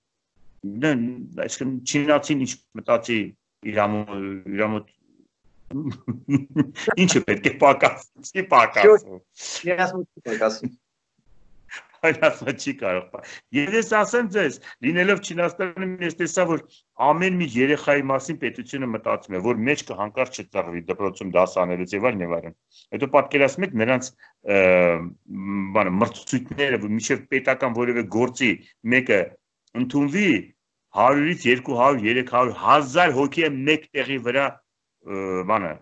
B: Այսինքն չինացին ինչ մտածի իրամոտ ինչը պետք է պակասի, չի պակասում։
C: Պակասում։
B: Այն ասա չի կարող։ Եվ ես ասեմ ձեզ, լինելով Չինաստանում, ես տեսա, որ ամեն մի երեխայի մասին պետությունը մտածում է, որ մեջքը հանկարծ չծռվի դպրոցում դաս անելուց եւ այլն եւ այլն։ Հետո պատկերացնում եք նրանց բանը մրցույթները, մինչեւ պետական որևէ գործի մեկը ընդունվի հարյուրից երկու հարյուր, երեք հարյուր, հազար հոգի է մեկ տեղի վրա բանը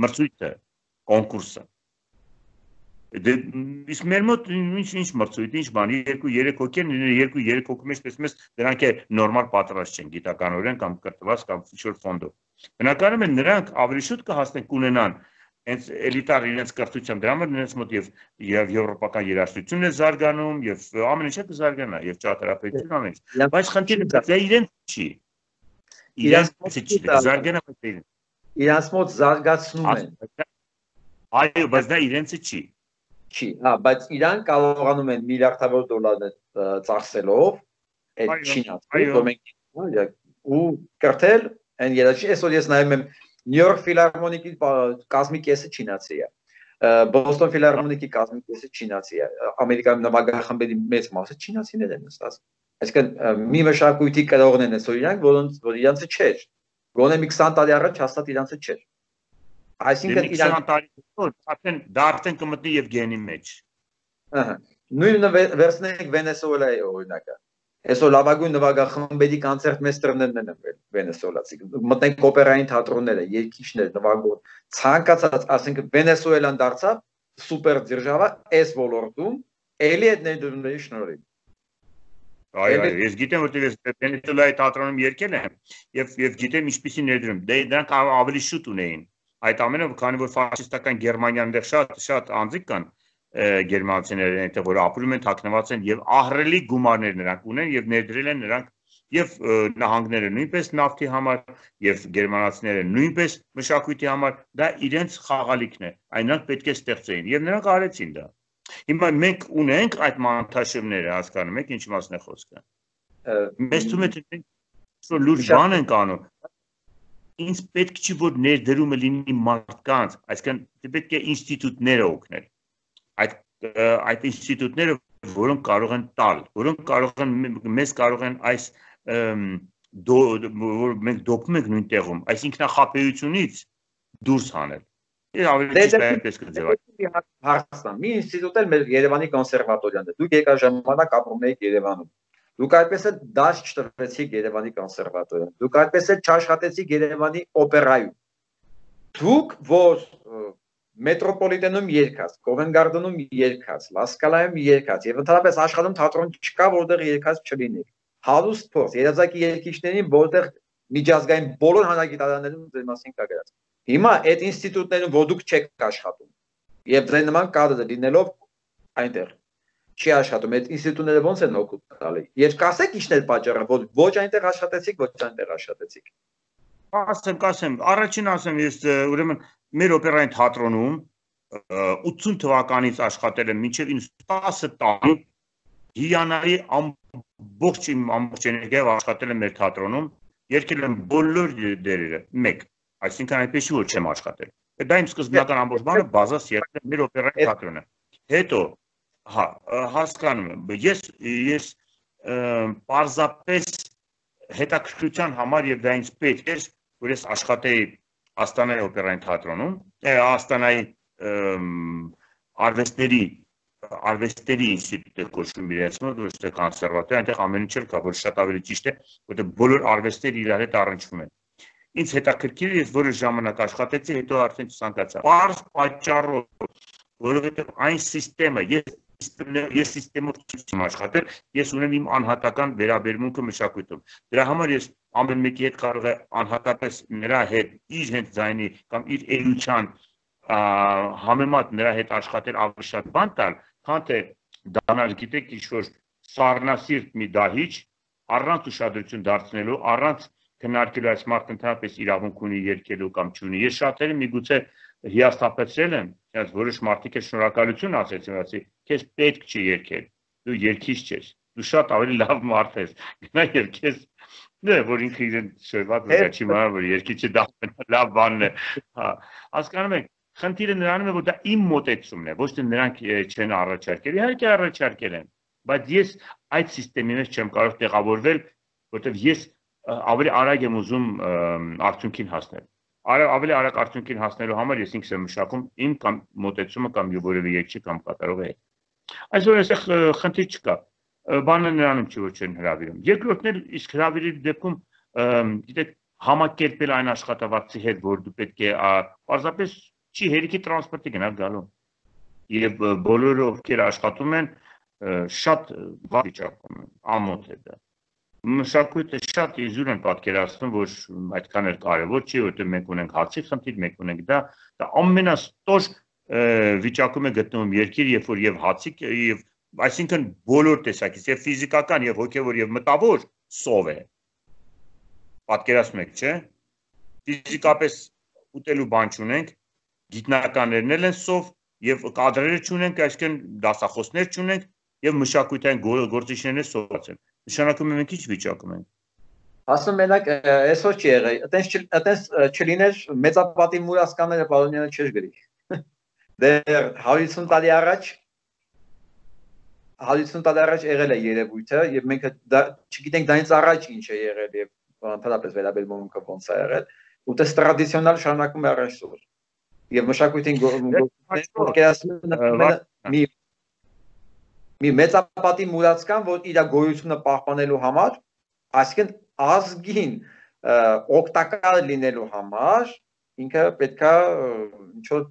B: մրցույթը, կոնկուրսը։ Իսկ մեր մոտ ինչ մրցույթ, ինչ բան, երկու երեք հոգի են, երկու երեք հոգի մեջ տեսնում ես, դրանք է նորմալ պատրաստ չեն գիտականորեն կամ կրթված կամ ինչ-որ ֆոնդով։ Բնականում են նրանք ավելի շուտ կհասնեն կունենան հենց էլիտար իրենց կրթությամբ, դրա համար նրանց մոտ եւ եվրոպական երաժշտությունն է զարգանում, եւ ամեն ինչը կզարգանա, եւ ճարտարապետություն ամեն ինչ։ Բայց խնդիրը դա իրենց չի։ Իրենց չի, զարգանա պետք։
C: Իրանց մոտ զարգացնում են։
B: Այո, բայց դա իրենցը չի։
C: Չի, հա, բայց իրանք կարողանում են միլիարդավոր դոլարներ ծախսելով այդ Չինաստանը, որ մենք ու կրթել այն երաժիշտ, այսօր ես նայում եմ Նյու Յորք ֆիլհարմոնիկի կազմի կեսը չինացի է, Բոստոն ֆիլհարմոնիկի կազմի կեսը չինացի է, Ամերիկայում նվագախմբերի մեծ մասը չինացիներ են նստած։ Այսինքն մի մշակույթի կրողն են այսօր իրանք, որոնց որ իրանցը չէր, գոնե մի քսան տարի առաջ հաստատ իրանցը չէր։ Այսինքն
B: իրանք արդեն դա արդեն կմտնի եւ գենի մեջ։
C: Ահա։ Նույնը վերցնենք Վենեսուելայի օրինակը։ Այսօր լավագույն նվագախմբերի կոնցերտ մեստերներն են վենեսուելացի։ Մտնենք օպերային թատրոնները, երգիչներ, նվագող, ցանկացած, ասենք Վենեսուելան դարձավ սուպեր դիրժավա այս ոլորտում, էլի այդ ներդրումների շնորհիվ։
B: Այո, այո, ես գիտեմ, որտեղ ես Վենեսուելայի թատրոնում երգել եմ եւ եւ գիտեմ ինչպիսի ներդրում։ Դե դրանք ավելի շուտ ունեին։ Այդ ամենը, քանի որ ֆաշիստական Գերմանիան դեռ շատ շատ անձիկ կան գերմանացիները այնտեղ որ ապրում են, թաքնված են եւ ահռելի գումարներ նրանք ունեն եւ ներդրել են նրանք եւ նահանգները նույնպես նավթի համար եւ գերմանացիները նույնպես մշակույթի համար, դա իրենց խաղալիքն է, այն նրանք պետք է ստեղծեին եւ նրանք արեցին դա։ Հիմա մենք ունենք այդ մանթաշիվները, հասկանում եք ինչ մասն է խոսքը։ Մեզ թվում է թե լուրջ բան են կանում։ Ինձ պետք չի որ ներդրումը լինի մարդկանց, այսինքն պետք է ինստիտուտները օգնել։ Այդ այդ ինստիտուտները, որոնք կարող են տալ, որոնք կարող են մեզ կարող են այս որ մենք դոփում ենք նույն տեղում, այս ինքնախապեյությունից դուրս հանել։ Ես ավելի ճիշտ է այդպես կձևակերպեմ։
C: Հարցնամ, մի ինստիտուտ էլ մեր Երևանի կոնսերվատորիան է։ Դուք եկա ժամանակ ապրում եք Երևանում։ Դուք այդպես էլ դաշ չտվեցիք Երևանի կոնսերվատորիան։ Դուք այդպես էլ չաշխատեցիք Երևանի օպերայում։ Դուք որ մետրոպոլիտենում երգած, Կովենտ Գարդենում երգած, Լասկալայում երգած եւ ընդհանրապես աշխարհում թատրոն չկա, որտեղ երգած չլինի։ Հարուստ փորձ, երազակի երգիչներին, որտեղ միջազգային բոլոր հանրագիտարաններում ձեր մասին կա գրած։ Հիմա այդ ինստիտուտներում որ դուք չեք աշխատում եւ ձեր նման կադրը լինելով այնտեղ, չի աշխատում, այդ ինստիտուտները ոնց են օգուտ տալի։ Ես կասեք ինչն է պատճառը, որ ոչ այնտեղ աշխատեցիք, ոչ այնտեղ աշխատեցիք։
B: Ասեմ, կասեմ, առաջին ասեմ, ես ուրեմն մեր օպերային թատրոնում ութսուն թվականից աշխատել եմ մինչև տասը տարի հիանալի ամբողջ իմ ամբողջ էներգիայով աշխատել եմ մեր թատրոնում, երգել եմ բոլոր դերերը, մեկ, այսինքն այնպես չի որ չեմ աշխատել։ Դա իմ սկզբնական ամբողջ բանը բազաս եղել է մեր օպերային թատրոնը։ Հետո հա, հասկանում եմ, ես ես պարզապես հետաքրքրության համար եւ դա ինձ պետք էր, որ ես աշխատեի Աստանայի օպերային թատրոնում, Աստանայի արվեստների արվեստների ինստիտուտը կոչվում իրենց մոտ, ոչ թե կոնսերվատոր, այնտեղ ամեն ինչ կա, որ շատ ավելի ճիշտ է, որտեղ բոլոր արվեստները իրար հետ առնչվում են։ Ինձ հետաքրքիր է, ես որոշ ժամանակ աշխատեցի, հետո արդեն ցանկացա։ Պարզ պատճառով, որովհետեւ այն համակարգը, ես ես համակարգով չեմ աշխատել, ես ունեմ իմ անհատական վերաբերմունքը մշակույթում։ Դրա համար ես ամեն մեկի հետ կարող եմ անհատապես նրա հետ իր հենց ձայնի կամ իր էության համեմատ նրա հետ աշխատել ավելի շատ բան տալ, քան թե դառնալ, գիտեք, ինչ-որ սառնասիրտ մի դահիճ, առանց ուշադրություն դարձնելու, առանց քննարկելու այս մարդը ընդհանրապես իրավունք ունի երգելու կամ չունի։ Ես շատերը միգուցե հիասթափեցրել եմ, բայց որոշ մարդիկ էլ շնորհակալություն ասեցին, ասի, քեզ պետք չի երգել, դու երգիչ ես, դու շատ ավելի լավ մարդ ես, գնա երգես, դե որ ինքը իրեն շոյված է, չի մարդ, որ երգիչը դա լավ բանն է, հա, հասկանում եք, խնդիրը նրանում է, որ դա իմ մոտեցումն է, ոչ թե նրանք չեն առաջարկել, իհարկե առաջարկել են, բայց ես այդ համակարգի մեջ չեմ կարող տեղավորվել, որտեղ ես ավելի արագ եմ ուզում արդյունքին հասնել։ Ավելի արագ արդյունքին հասնելու համար ես ինքս եմ մշակում իմ կամ մոտեցումը կամ որևէ երգչի կամ կատարողի հետ։ Այսօր այստեղ խնդիր չկա, բանը նրանում չի, որ չեն հրավիրում։ Երկրորդն էլ իսկ հրավիրի դեպքում, գիտեք, համակերպել այն աշխատավարձի հետ, որ դու պետք է պարզապես չի հերիքի տրանսպորտի գնալ գալու։ Եվ բոլորը ովքեր աշխատում են, շատ վատ վիճակում են, ամոթ է դա։ Մշակույթը շատ իզուր են պատկերացնում, որ այդքան էլ կարևոր չի, որտեղ մենք ունենք հացի խնդիր, մենք ունենք դա, դա ամենաստոր վիճակում է գտնվում երկիր, երբ որ եւ հացի եւ այսինքն բոլոր տեսակից, եւ ֆիզիկական, եւ հոգեվոր, եւ մտավոր սով է։ Պատկերացնում եք, չէ՞։ Ֆիզիկապես ուտելու բան չունենք, գիտնականներն են սով, եւ կադրերը չունենք, այսինքն դասախոսներ չունենք, եւ մշակութային գործիչներն սոված են։ Նշանակում է մենք ինչ վիճակում ենք։
C: Ասում մենակ այսօր չի եղել, այտենց այտենց չլիներ մեծապատի մուրասկանները Պարոնյանը չէր գրի։ Դեռ հարյուն տարի առաջ հարյուն տարի առաջ եղել է երևույթը եւ մենք դա չգիտենք դրանից առաջ ինչ է եղել եւ ընդհանրապես վերաբերմունքը ոնց է եղել, ու դա տրադիցիոնալ շարունակում է այսօր։ Եվ մշակույթին գործընկերացումը մի մի մեծապատի մուրացկան, որ իր գոյությունը պահպանելու համար, այսինքն ազգին օգտակար լինելու համար, ինքը պետքա ինչ-որ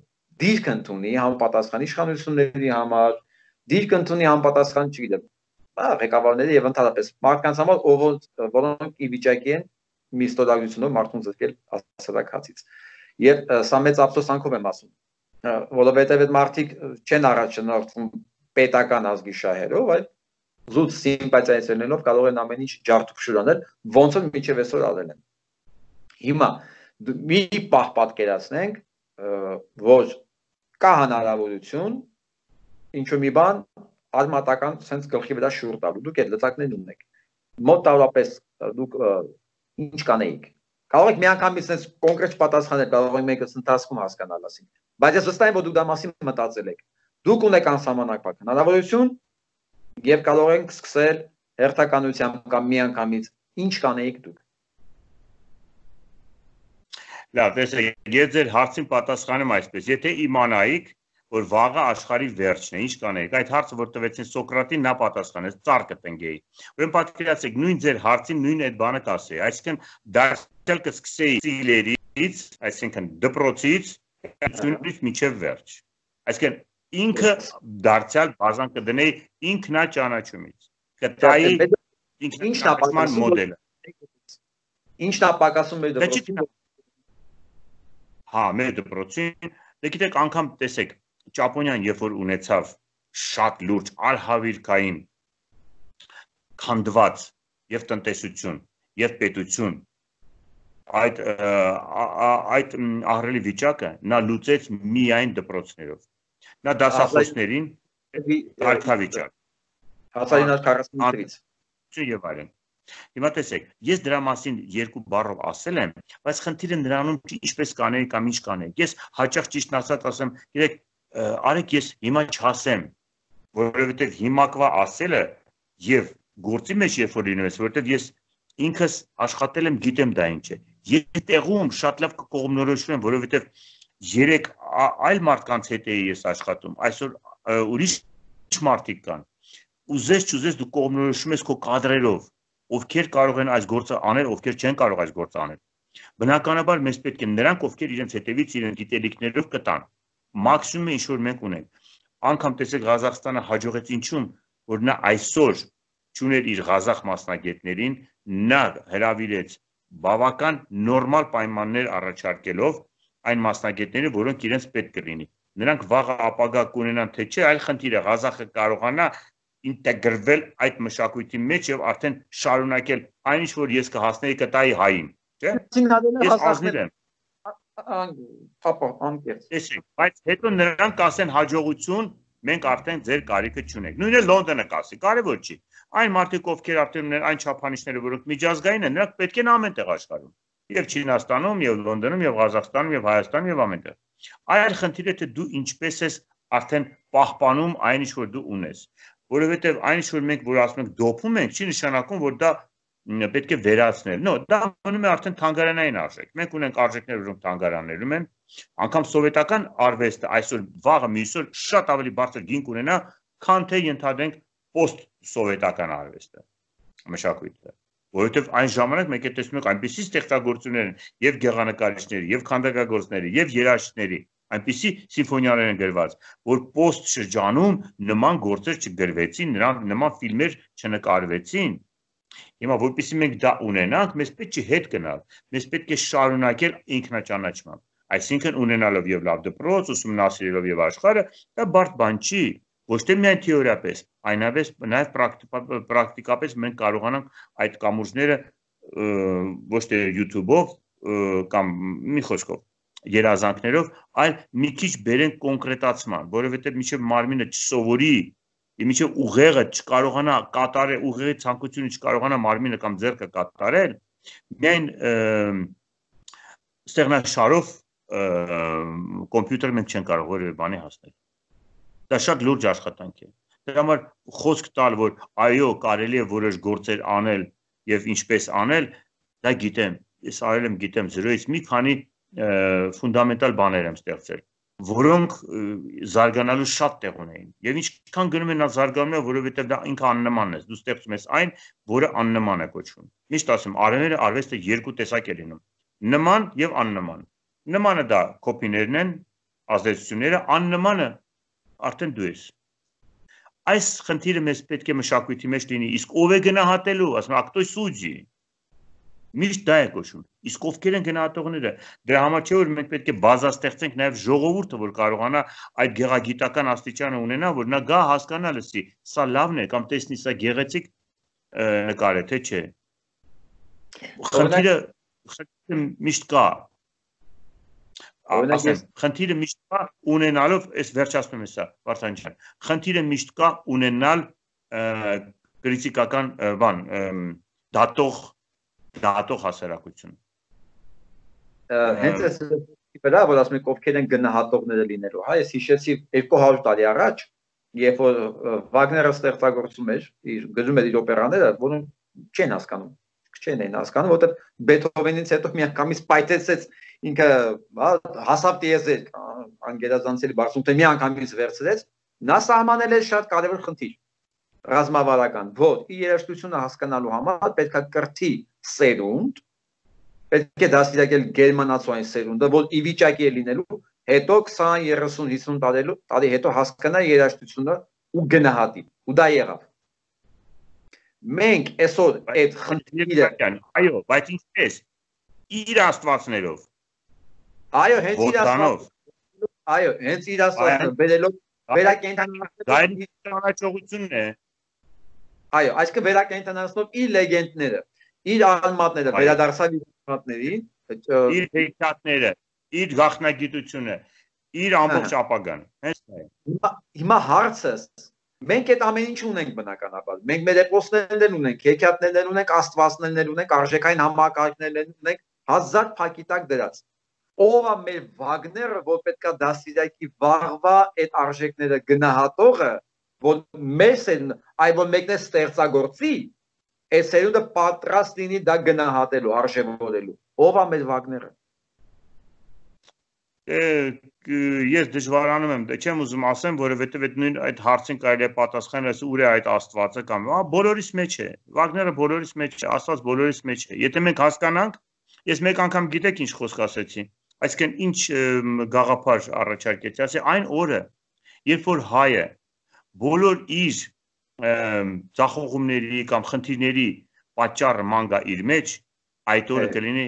C: դիրք ընդունի համապատասխան իշխանությունների համար, դիրք ընդունի համապատասխան, չգիտեմ, ղեկավարների եւ ընդհանրապես մարդկանց համար, որոնք ի վիճակի են մի ստորագրությունով մարդուն զրկել հասարակացից։ Եվ սա մեծ ափսոսանքով եմ ասում, որովհետեւ այդ մարդիկ չեն առաջնորդվում պետական ազգի շահերով, այլ զուտ սիմպաթիայացնելով կարող են ամեն ինչ ջարդուփշուր անել, ոնց որ մինչև այսօր արել են։ Հիմա մի պահ պատկերացնենք, որ կա հնարավորություն ինչ-որ մի բան արմատական sense գլխի վրա շուռ տալու, դուք այդ լծակներն ունեք։ Մոտ տարապես դուք ինչ կանեիք։ Կարող եք միանգամից sense կոնկրետ պատասխանել, կարող եք մեկը ընթացքում հասկանալ ասին։ Բայց ես վստահ եմ, որ դուք դա մասին մտածել եք։ Դուք ունեք անսահմանափակ հնարավորություն եւ կարող ենք սկսել հերթականությամբ կամ միանգամից ինչ կանեիք դուք։
B: Լավ, տեսեք, ես ձեր հարցին պատասխանում այսպես, եթե իմանայիք, որ վաղը աշխարհի վերջն է, ինչ կանեիք։ Այդ հարցը որ տվեցին Սոկրատին, նա պատասխանեց, ծառ կտնկեի։ Ուրեմն պատկերացեք, նույն ձեր հարցին նույն այդ բանը կասեի, այսինքն դարձյալ կսկսեի ծիլերից, այսինքն դպրոցից, ծնունդից մինչև վերջ։ Այսինքն ինքը դարձյալ բազան կդնեի ինքնաճանաչումից։ Կտայի ինքնապատասխան մոդելը։
C: Ինչն է պակասում մեր դպրոցին։
B: Հա, մեր դպրոցին, դե գիտեք, անգամ տեսեք, Ճապոնիան երբ որ ունեցավ շատ լուրջ արհավիրքային քանդված եւ տնտեսություն եւ պետություն այդ այդ ահռելի վիճակը նա լուծեց միայն դպրոցներով նա դասախոսներին կարգավիճակ
C: հազար իննսուն քառասունութրից
B: եւ այլն Հիմա տեսեք, ես դրա մասին երկու բառով ասել եմ, բայց խնդիրը նրանում ինչպես կանեի կամ ինչ կանեի։ Ես հաճախ ճիշտն ասած ասեմ, գիտեք, արեք ես հիմա չասեմ, որովհետև հիմակվա ասելը եւ գործի մեջ երբ որ լինում ես, որովհետև ես ինքս աշխատել եմ, գիտեմ դա ինչ է։ Ես տեղում շատ լավ կողմնորոշում եմ, որովհետև երեք այլ մարդկանց հետ էի ես աշխատում, այսօր ուրիշ մարդիկ կան։ Ուզես չուզես դու կողմնորոշում ես քո կադրերով ովքեր կարող են այս գործը անել, ովքեր չեն կարող այս գործը անել։ Բնականաբար մեզ պետք է նրանք, ովքեր իրենց հետևից իրենց գիտելիքներով կտան։ Մաքսիմումը ինչ որ մենք ունենք։ Անկամ տեսեք Ղազախստանը հաջողեց ինչու՞մ, որ նա այսօր ճուներ իր Ղազախ մասնագետներին, նա հրավիրեց բավական նորմալ պայմաններ առաջարկելով այն մասնագետները, որոնք իրենց պետք կլինի։ Նրանք վաղը ապագա կունենան թե չէ, այլ խնդիրը Ղազախը կարողանա ինտեգրվել այդ մշակույթի մեջ եւ արդեն շարունակել այն ինչ որ ես կհասնեի կտայի հային, չէ՞։ Ես ազնիվ եմ։
C: Պապա, անկեղծ։
B: Տեսեք, բայց հետո նրանք կասեն հաջողություն, մենք արդեն ձեր կարիքը չունենք։ Նույնը Լոնդոնը կասի, կարևոր չի։ Այն մարդիկ, ովքեր արդեն ունեն այն չափանիշները, որոնք միջազգային են, նրանք պետք է ամենտեղ աշխարհում։ Եվ Չինաստանում, եւ Լոնդոնում, եւ Ղազախստանում, եւ Հայաստանում, եւ ամենտեղ։ Այլ խնդիրը թե դու ինչպես ես արդեն պահպանում այն ինչ որ դու ունես։ Որովհետև այն ինչ որ մենք որ ասում ենք դոփում ենք, չի նշանակում, որ դա պետք է վերացնել։ No, դա մնում է արդեն թանգարանային արժեք։ Մենք ունենք արժեքներ, որոնք թանգարաններում են, անգամ սովետական արվեստը այսօր վաղը մյուսօր շատ ավելի բարձր գին կունենա, քան թե ենթադրենք post-սովետական արվեստը, մշակույթը։ Որովհետև այն ժամանակ մենք է տեսնում ենք այնպիսի ստեղծագործություններ են եւ գեղանկարիչների, եւ քանդակագործների, եւ երաժիշտների այնպիսի սիմֆոնիաներ են գրված, որ post շրջանում նման գործեր չգրվեցին, նրանք նման ֆիլմեր չնկարվեցին։ Հիմա որպեսզի մենք դա ունենանք, մեզ պետք է հետ գնալ, մեզ պետք է շարունակել ինքնաճանաչմամբ։ Այսինքն ունենալով եւ լավ դպրոց, ուսումնասիրելով եւ աշխարհը, դա բարդ բան չի, ոչ թե միայն թեորիապես, այնպես նաեւ պրակտիկապես մենք կարողանանք այդ կամուրջները ոչ թե YouTube-ով կամ մի խոսքով երազանքներով, այլ մի քիչ բերենք կոնկրետացման, որովհետև մինչև մարմինը չսովորի, մինչև ուղեղը չկարողանա կատարել, ուղեղի ցանկությունը չկարողանա մարմինը կամ ձեռքը կատարել, միայն ստեղնաշարով կոմպյուտեր մենք չեն կարող որևէ բանի հասնել։ Դա շատ լուրջ աշխատանք է։ Դրա համար խոսք տալ, որ այո, կարելի է որոշ գործեր անել եւ ինչպես անել, դա գիտեմ, ես արել եմ, գիտեմ, զրոյից մի քանի ֆունդամենտալ բաներ եմ ստեղծել, որոնք զարգանալու շատ տեղ ունեին։ Եվ ինչքան գնում են նա զարգանում է, որովհետև դա ինքը աննմանն է, դու ստեղծում ես այն, որը աննման է կոչվում։ Միշտ ասում, արևերը արվեստը երկու տեսակ է լինում՝ նման եւ աննման։ Նմանը դա կոպիներն են, ազդեցությունները, աննմանը արդեն դու ես։ Այս խնդիրը մեզ պետք է մշակույթի մեջ լինի, իսկ ով է գնահատելու, ասում ակտոյ սուջի։ Միշտ դա է կոչվում։ Իսկ ովքեր են գնահատողները։ Դրա համար չէ որ մենք պետք է բազա ստեղծենք նաև ժողովուրդը, որ կարողանա այդ գեղագիտական աստիճանը ունենա, որ նա գա հասկանա լսի, սա լավն է կամ տեսնի սա գեղեցիկ նկար է, թե չէ։ Խնդիրը խնդիրը միշտ կա։ Ասեմ, խնդիրը միշտ կա ունենալով, այս վերջացնում է սա, Վարդան ջան։ Խնդիրը միշտ կա ունենալ կրիտիկական բան, դատող դատող հասարակություն։
C: Հենց այս վրա, որ ասում եք ովքեր են գնահատողները լինելու, հա, ես հիշեցի երկու հարյուր տարի առաջ, երբ որ Վագները ստեղծագործում էր, իր գրում էր իր օպերաները, որոնք չեն հասկանում, չեն են հասկանում, որտեղ Բեթհովենից հետո միանգամից պայթեցեց ինքը, հա, հասավ տիեզեր, անգերազանցելի բարձում, թե միանգամից վերցրեց, նա սահմանել է շատ կարևոր խնդիր, ռազմավարական, որ իր երաժշտությունը հասկանալու համար պետք է կրթի սերունդ, պետք է դաստիարակել գերմանացիային սերունդը, որ ի վիճակի է լինելու, հետո քսան, երեսուն, հիսուն տարի հետո հասկանա երաժշտությունը ու գնահատի, ու դա եղավ։ Մենք այսօր այդ խնդիրը,
B: այո, բայց ինչպես իր աստվածներով,
C: այո, հենց իր աստվածներով, այո, հենց իր աստվածներով, բերելով
B: վերակենդանացողությունն է։
C: Այո, այսինքն վերակենդանացնող իր լեգենդները, իր անմատները, վերադարձավ իր անմատներին,
B: իր հեքիաթները, իր գաղտնագիտությունը, իր ամբողջ ապագան, հենց դա է։
C: Հիմա հարցը մենք այդ ամեն ինչ ունենք բնականաբար։ Մենք մեր էպոսներն ունենք, հեքիաթներն ունենք, աստվածներն ունենք, արժեքային համակարգներն ունենք, հազար փակի տակ դրած։ Ով է մեր Վագները, որ պետքա դաստիարակի վաղվա այդ արժեքները գնահատողը, որ մեզ են, այ որ մեկն է ստեղծագործի, այդ սերունդը պատրաստ լինի դա գնահատելու, արժևորելու։ Ով է մեր Վագները։
B: Ես դժվարանում եմ, չեմ ուզում ասեմ, որովհետև այդ նույն այդ հարցին կարելի է պատասխանել, ուր է այդ Աստվածը կամ, ահա բոլորիս մեջ է։ Վագները բոլորիս մեջ է, Աստված բոլորիս մեջ է։ Եթե մենք հասկանանք, ես մեկ անգամ գիտեք ինչ խոսք ասեցի, այսինքն ինչ գաղափար առաջարկեցի, ասի այն օրը, երբ որ հայը բոլոր իր ձախողումների կամ խնդիրների պատճառը ման գա իր մեջ, այդ օրը կլինի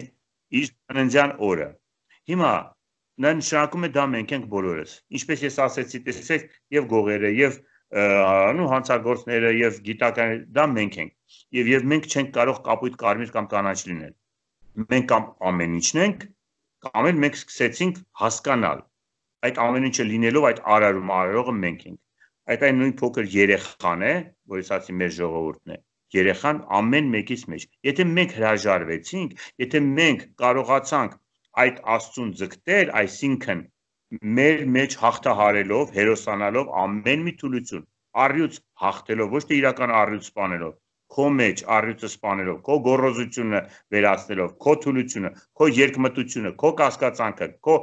B: իր ծննդյան օրը։ Հիմա նա նշանակում է դա մենք ենք բոլորս, ինչպես ես ասեցի, տեսեք, եւ գողերը, եւ նու հանցագործները, եւ գիտականները, դա մենք ենք, եւ եւ մենք չենք կարող կապույտ կարմիր կամ կանաչ լինել։ Մենք կամ ամեն ինչն ենք, կամ էլ մենք սկսեցինք հասկանալ, այդ ամեն ինչը լինելով այդ արարում արարողը մենք ենք։ Այդ այն նույն փոքր երեխան է, որից ասի մեր ժողովուրդն է, երեխան ամեն մեկից մեջ։ Եթե մենք հրաժարվեցինք, եթե մենք կարողացանք այդ Աստծուն ձգտել, այսինքն մեր մեջ հաղթահարելով, հերոսանալով ամեն մի թուլություն, առյուծ հաղթելով, ոչ թե իրական առյուծ սպանելով, քո մեջ առյուծը սպանելով, քո գոռոզությունը վերացնելով, քո թուլությունը, քո երկմտությունը, քո կասկածանքը, քո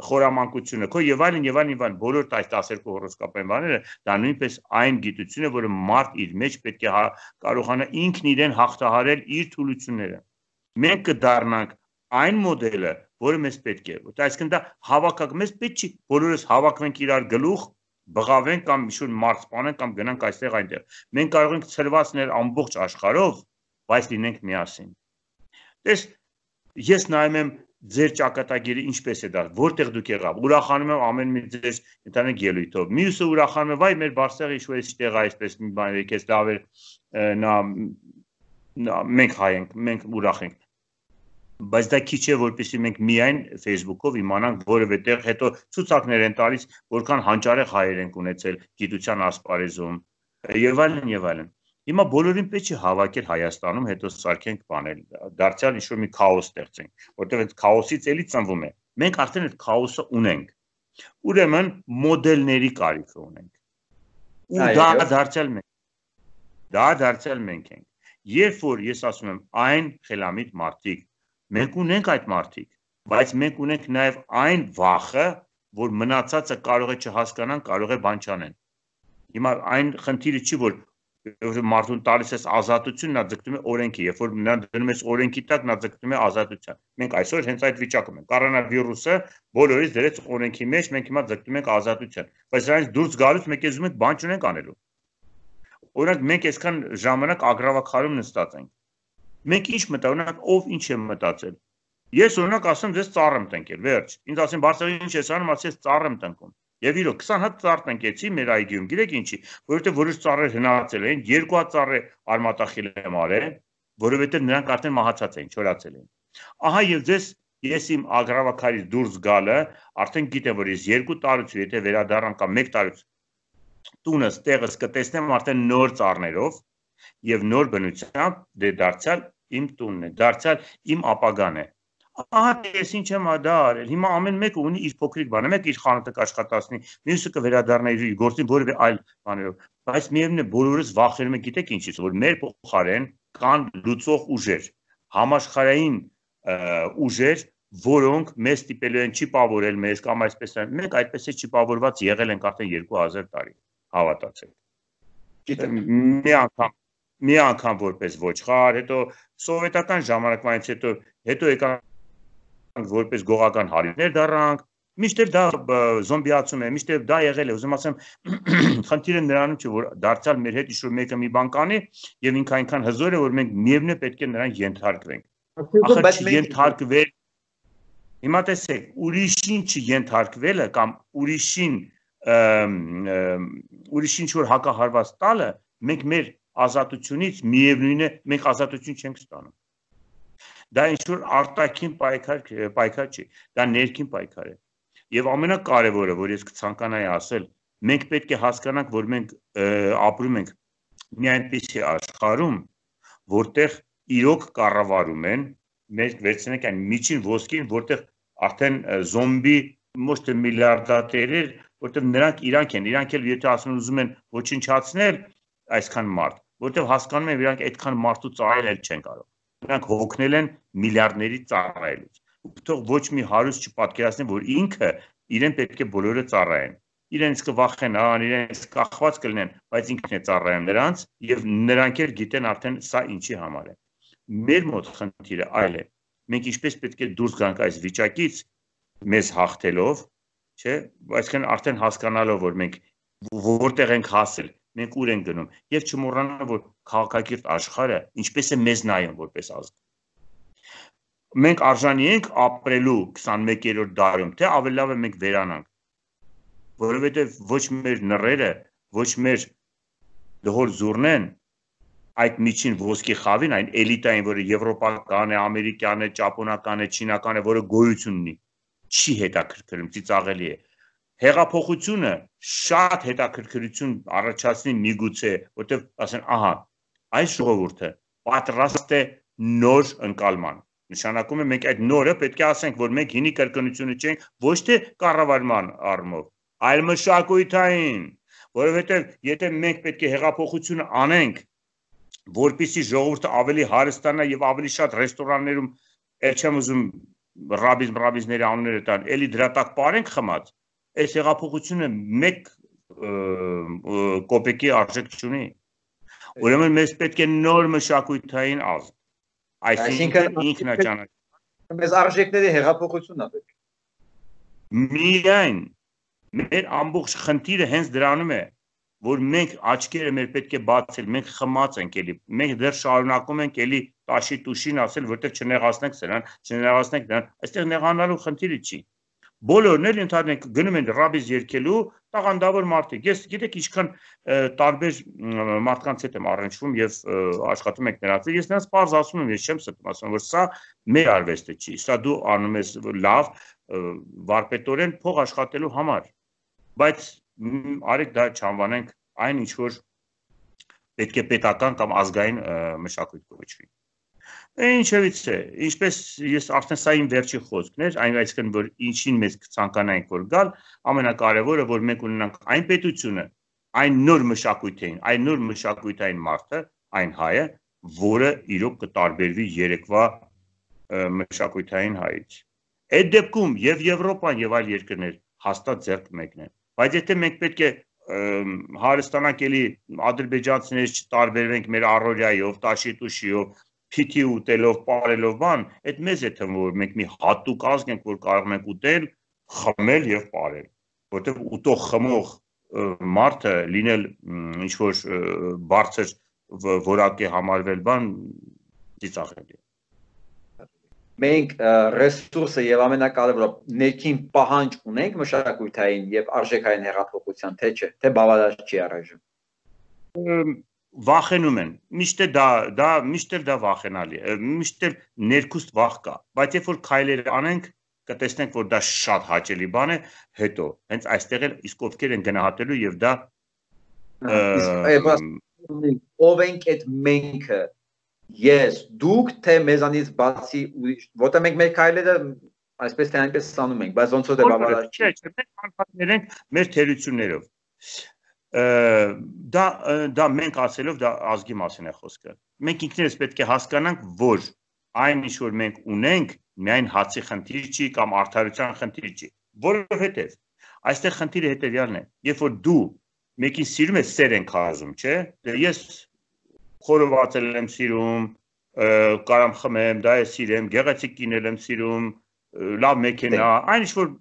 B: խորամանկությունը, քո եւ այլն եւ այլն եւ այլն, բոլոր այս տասներկու հորոսկոպային բաները, դա նույնպես այն գիտություն է, որը մարդ իր մեջ պետք է կարողանա ինքն իրեն հաղթահարել իր թուլությունները։ Մենք կդառնանք այն մոդելը, որը մեզ պետք է, այսինքն դա հավաքակ, մեզ պետք չի, բոլորս հավաքվենք իրար գլուխ, բղավենք կամ ինչ-որ մարդ սպանենք կամ գնանք այստեղ այնտեղ։ Մենք կարող ենք ցրվածներ ամբողջ աշխարհով, բայց լինենք միասին։ Տես, ես նայում եմ ձեր ճակատագիրը ինչպես է դա, որտեղ դուք եղավ, ուրախանում եմ ամեն մի ձեր ընդհանուր ելույթով։ Մյուսը ուրախանում է, վայ մեր Բարսեղը ինչ-որ էստեղ է այսպես մի բան եկես լավ էր, նա մենք հայ ենք, մենք ուրախ ենք։ Բայց դա քիչ է, որպեսզի մենք միայն Facebook-ով իմանանք որևէ տեղ, հետո ցուցակներ են տալիս, որքան հանճարեղ հայեր ենք ունեցել գիտության ասպարեզում եւ այլն եւ այլն։ Հիմա բոլորին պետք է հավաքել Հայաստանում, հետո սարքենք բանել, դարձյալ ինչ-որ մի քաոս ստեղծենք, որտեղ այդ քաոսից էլի ծնվում է։ Մենք արդեն այդ քաոսը ունենք։ Ուրեմն մոդելների կարիքը ունենք։ Ու դա դարձյալ մենք։ Դա դարձյալ մենք ենք։ Երբ որ ես ասում եմ այն խելամիտ մարդիկ, մենք ունենք այդ մարդիկ, բայց մենք ունենք նաև այն վախը, որ մնացածը կարող է չհասկանան, կարող է բան չանեն։ Հիմա այն խնդիրը չի, որ մարդուն տալիս ես ազատություն, նա ձգտում է օրենքի, երբ որ նա դնում ես օրենքի տակ, նա ձգտում է ազատության։ Մենք այսօր հենց այդ վիճակում ենք։ Կորոնավիրուսը բոլորից դրեց օրենքի մեջ, մենք հիմա ձգտում ենք ազատության, բայց դրանից դուրս գալուց մենք ուզում ենք բան չունենք անելու։ Օրինակ մենք այսքան ժամանակ ագրավախարում նստած ենք։ Մենք ինչ մտանանք, ով ինչ է մտածել։ Ես օրինակ ասեմ, ձեզ ծառ եմ տնկել, վերջ։ Ինձ ասեն, Բարսեղի ինչ ես անում, ասես ծառ եմ տնկում։ Եվ իրոք քսան հատ ծառ տնկեցի մեր այգիում, գիտեք ինչի, որովհետև որոշ ծառեր հնացել են, երկու հատ ծառ է արմատախիլ եմ արել, որովհետև նրանք արդեն մահացած էին, չորացել էին։ Ահա եւ ձեզ ես իմ ագրավակարից դուրս գալը, արդեն գիտեմ, որ ես երկու տարուց, եթե վերադառնամ կամ մեկ տարուց տունս, տեղս կտեսնեմ արդեն նոր ծառներով եւ նոր բնությամբ, դե դարձյալ իմ տունն է, դարձյալ իմ ապագան է։ Ահա ես ինչ եմ դա արել։ Հիմա ամեն մեկը ունի իր փոքրիկ բանը, մեկ իր խանութը կաշխատացնի, մյուսը կվերադառնա իր գործին որևէ այլ բաներով։ Բայց միևնույն է բոլորս վախենում ենք, գիտեք ինչից, որ մեր փոխարեն կան լուծող ուժեր, համաշխարհային ուժեր, որոնք մեզ ստիպելու են չիպավորել մեզ կամ այսպես են։ Մենք այդպես է չիպավորված եղել ենք արդեն երկու հազար տարի, հավատացեք։ Գիտեմ, մի անգամ մի անգամ որպես ոչխար, հետո սովետական ժամանակվանից հետո հետո եկանք որպես գողական հարիներ դառնանք, միշտ դա զոմբիացում է, միշտ դա եղել է, ուզում ասեմ, խնդիրը նրանում չէ, որ դարձյալ մեր հետ ինչ-որ մեկը մի բան կանի եւ ինքը այնքան հզոր է, որ մենք միևնույն է պետք է նրան ենթարկվենք։ Ախր չենթարկվել։ Հիմա տեսեք, ուրիշին չենթարկվելը կամ ուրիշին ուրիշ ինչ որ հակահարված տալը, մենք մեր ազատությունից միևնույն է, մենք ազատություն չենք ստանում։ Դա ինչ որ արտաքին պայքար պայքար չի, դա ներքին պայքար է։ Եվ ամենակարևորը, որ ես կցանկանայի ասել, մենք պետք է հասկանանք, որ մենք ապրում ենք մի այնպիսի աշխարհում, որտեղ իրոք կառավարում են, մենք վերցնենք այն միջին ոսկին, որտեղ արդեն զոմբի ոչ թե միլիարդատերեր, որտեղ նրանք իրանք են, իրանք էլ եթե ասում ուզում են ոչնչացնել այսքան մարդ, որտեղ հասկանում են, իրանք այդքան մարդու ծառայել չեն կարող։ Նրանք հոգնել են միլիարդների ծառայելուց։ Թող ոչ մի հարուստ չպատկերացնի, որ ինքը իրեն պետք է բոլորը ծառայեն։ Իրենց կվախենան, իրենց կախված կլինեն, բայց ինքն է ծառայում նրանց եւ նրանք էլ գիտեն արդեն սա ինչի համար է։ Մեր մոտ խնդիրը այլ է։ Մենք ինչպես պետք է դուրս գանք այս վիճակից մեզ հաղթելով, չէ՞, այսինքն արդեն հասկանալով, որ մենք որտեղ ենք հասել, մենք ուր ենք գնում եւ չմոռանալ, որ քաղաքակիրթ աշխարհը ինչպես է մեզ նայում որպես ազգ։ Մենք արժանի ենք ապրելու քսանմեկերորդ դարում, թե ավելի լավ է մենք վերանանք, որովհետեւ ոչ մեր նռերը, ոչ մեր դհոր զուրնեն այդ միջին ոսկի խավին, այն էլիտային, որը եվրոպական է, ամերիկյան է, ճապոնական է, չինական է, որը գոյություն ունի, չի հետաքրքրում, ծիծաղելի է։ Հեղափոխությունը շատ հետաքրքրություն առաջացնի միգուցե, որտեղ ասեն, ահա, այս ժողովուրդը պատրաստ է նոր ընկալման։ Նշանակում է մենք այդ նորը պետք է ասենք, որ մենք հինի կրկնությունը չենք, ոչ թե կառավարման առումով, այլ մշակութային, որովհետև եթե մենք պետք է հեղափոխությունը անենք, որպեսզի ժողովուրդը ավելի հարստանա եւ ավելի շատ ռեստորաններում, ել չեմ ուզում ռաբիզ ռաբիզների անունները տան, էլի դրա տակ պարենք խմած, այս հեղափոխությունը մեկ կոպեկի արժեք չունի։ Ուրեմն մեզ պետք է նոր մշակութային ազգ, այսինքն ինքնաճանաչում։
C: Մեզ արժեքների հեղափոխությունն է պետք։
B: Միայն մեր ամբողջ խնդիրը հենց դրանում է, որ մենք աչքերը մեր պետք է բացել, մենք խմած ենք էլի, մենք դեռ շարունակում ենք էլի տաշի տուշին ասել, որտեղ չնեղացնենք սրան, չնեղացնենք նրան, այստեղ նեղանալու խնդիրը չի։ Բոլորն էլ ընդհանրեն գնում են ռաբիզ երգելու, տաղանդավոր մարդիկ։ Ես գիտեք ինչքան տարբեր մարդկանց հետ եմ առնչվում եւ աշխատում ենք նրանց։ Ես նրանց պարզ ասում եմ, ես չեմ ստում, ասում որ սա մեր արվեստը չի, սա դու անում ես լավ, վարպետորեն փող աշխատելու համար։ Բայց արեք դա չանվանենք այն ինչ որ պետք է պետական կամ ազգային մշակույթ կոչվի։ Ինչևից է, ինչպես ես արդեն սա իմ վերջի խոսքն էր, այն այսինքն որ ինչին մեզ կցանկանայինք որ գալ, ամենակարևորը որ մենք ունենանք այն պետությունը, այն նոր մշակույթային, այն նոր մշակույթային մարդը, այն հայը, որը իրոք կտարբերվի երեկվա մշակույթային հայից։ Այդ դեպքում եւ Եվրոպան եւ այլ երկրներ հաստատ ձեռք մեկն են։ Բայց եթե մենք պետք է հարստանանք էլի ադրբեջանցիներից չտարբերվենք մեր առօրյայով, տաշի տուշիով, փիթի ուտելով, ապարելով բան, այդ մեզ է թվում, որ մենք մի հատուկ ազգ ենք, որ կարող ենք ուտել, խմել եւ ապարել, որտեղ ուտող խմող մարդը լինել ինչ որ բարձր որակի համարվել բան ծիծաղելի է։
C: Մենք ռեսուրսը եւ ամենակարևորը ներքին պահանջ ունենք մշակութային եւ արժեքային հեղափոխության, թե չէ, թե բավարար չի առայժմ։
B: Վախենում են, միշտ է դա, դա միշտ է դա վախենալի է, միշտ է ներքուստ վախ կա, բայց երբ որ քայլեր անենք, կտեսնենք, որ դա շատ հաճելի բան է, հետո հենց այստեղ էլ իսկ ովքեր են գնահատելու եւ դա
C: ով ենք այդ menքը ես դուք թե մեզանից բացի ուրիշ որտեղ մենք մեր քայլերը այսպես թե այնպես ստանում ենք բայց ոնց որ դե բավարար չի
B: մենք անհատներ ենք մեր թերություններով դա դա մենք ասելով դա ազգի մասին է խոսքը մենք ինքներս պետք է հասկանանք որ այն ինչ որ մենք ունենք միայն հացի խնդիր չի կամ արդարության խնդիր չի որովհետև այստեղ խնդիրը հետեւյալն է երբ որ դու մեկին սիրում ես սեր ենք հազում չէ ես խորովածել եմ սիրում, կարամ խմեմ, դա է սիրեմ, գեղեցիկ կինել եմ սիրում, լավ մեքենա, այն ինչ որ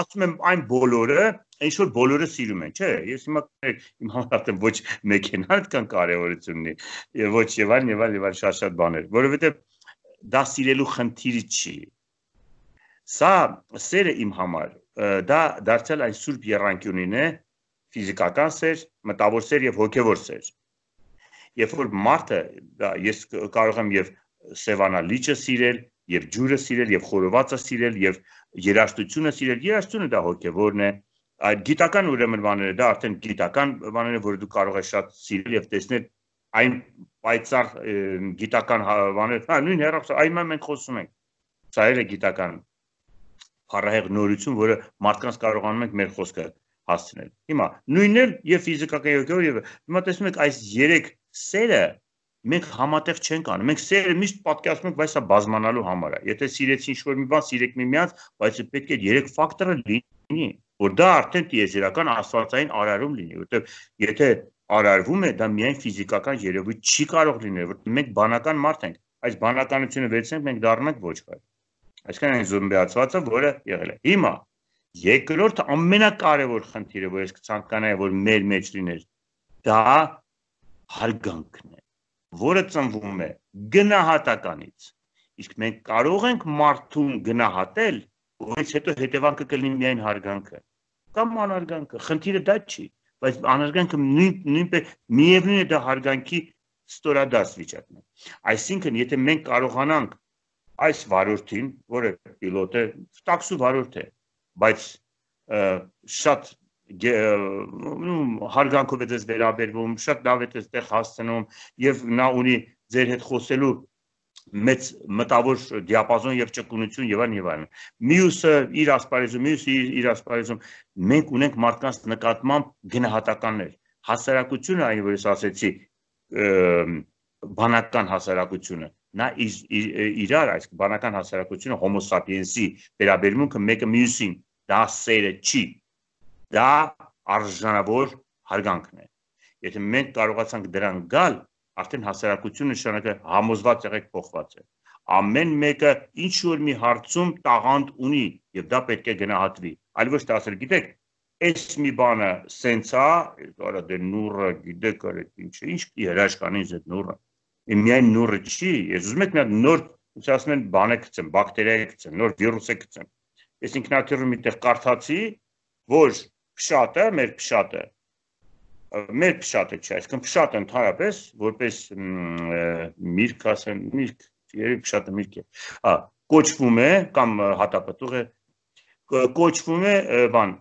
B: ասում եմ այն բոլորը, ինչ որ բոլորը սիրում են, չէ, ես հիմա իմ համար ոչ մեքենան այդքան կարևորություն ունի, եւ ոչ եւ այլն եւ այլն եւ այլ շատ-շատ բաներ, որովհետեւ դա սիրելու խնդիր չի։ Սա սերը իմ համար դա դարձյալ այն սուրբ եռանկյունին է, ֆիզիկական սեր, մտավոր սեր եւ հոգեվոր սեր։ Երբ որ մարդը, դա ես կարող եմ եւ սևանալ լիճը սիրել, եւ ջուրը սիրել, եւ խորովածը սիրել, եւ երաժշտությունը սիրել, երաժշտությունը դա հոգեվորն է, այդ գիտական ուրեմն բաները, դա արդեն գիտական բաները, որ դու կարող ես շատ սիրել եւ տեսնել այն պայծառ գիտական բաներ, հա, նույն հերոսը, այն մենք խոսում ենք։ Սա էլ է գիտական փառահեղ նորություն, որը մարդկանց կարողանում ենք մեր խոսքը հասցնել։ Հիմա նույնն էլ եւ ֆիզիկական ոգեոր եւ հիմա տեսնում եք այս երեք սերը մենք համատեղ չենք անում։ Մենք սերը միշտ պատկերացնում ենք, բայց սա բազմանալու համար է։ Եթե սիրեցին ինչ-որ մի բան, սիրեք միմյանց, բայց պետք է երեք ֆակտորը լինի, որ դա արդեն տիեզերական աստվածային արարում լինի, որովհետեւ եթե արարվում է, դա միայն ֆիզիկական երևույթ չի կարող լինել, որ մենք բանական մարդ ենք։ Այս բանականությունը վերցնենք, մենք դառնում ենք ոչխար։ Այսինքն այն զոմբիացվածը, որը եղել է։ Հիմա երկրորդ ամենակարևոր խնդիրը, որ ես կցանկանայի, որ մեր մեջ լիներ, դա հարգանքն է, որը ծնվում է գնահատականից։ Իսկ մենք կարող ենք մարդուն գնահատել, որից հետո հետևանքը կլինի միայն հարգանքը կամ անհարգանքը։ Խնդիրը դա չի, բայց անհարգանքը նույնպես միևնույն է դա հարգանքի ստորադաս վիճակն է։ Այսինքն, եթե մենք կարողանանք այս վարորդին, որը պիլոտ է, տաքսու վարորդ է, բայց շատ հարգանքով է դες վերաբերվում, շատ լավ է դες տեղ հասցնում եւ նա ունի ձեր հետ խոսելու մեծ մտավոր դիապազոն եւ ճկունություն եւ այլն եւ այլն։ Մյուսը իր ասպարեզում, մյուսը իր ասպարեզում մենք ունենք մարդկանց նկատմամբ գնահատականներ։ Հասարակությունը, այն որ ես ասեցի, բանական հասարակությունը, նա իրար այս բանական հասարակությունը հոմո սապիենսի վերաբերմունքը մեկը մյուսին, դա սերը չի, դա արժանավոր հարգանքն է։ Եթե մենք կարողացանք դրան գալ, արդեն հասարակությունը նշանակը համոզված եղեք փոխված է։ Ամեն մեկը ինչ որ մի հարցում տաղանդ ունի եւ դա պետք է գնահատվի։ Այլ ոչ թե ասել, գիտեք, այս մի բանը սենց է, կարա դե նուրը, գիտեք, արեք ինչ է, ինչ երաշկանից այդ նուրը։ Միայն նուրը չի, ես ուզում եք նա նոր, ոնց ասում են, բան է գցեմ, բակտերիա է գցեմ, նոր վիրուս է գցեմ։ Ես ինքնաթիռում միտեղ կարդացի, որ փշատը, մեր փշատը, մեր փշատը չէ, այսինքն փշատը ընդհանրապես որպես միրգ ասեն, միրգ, երեք փշատը միրգ է։ Հա, կոչվում է կամ հատապտուղ է, կոչվում է բան,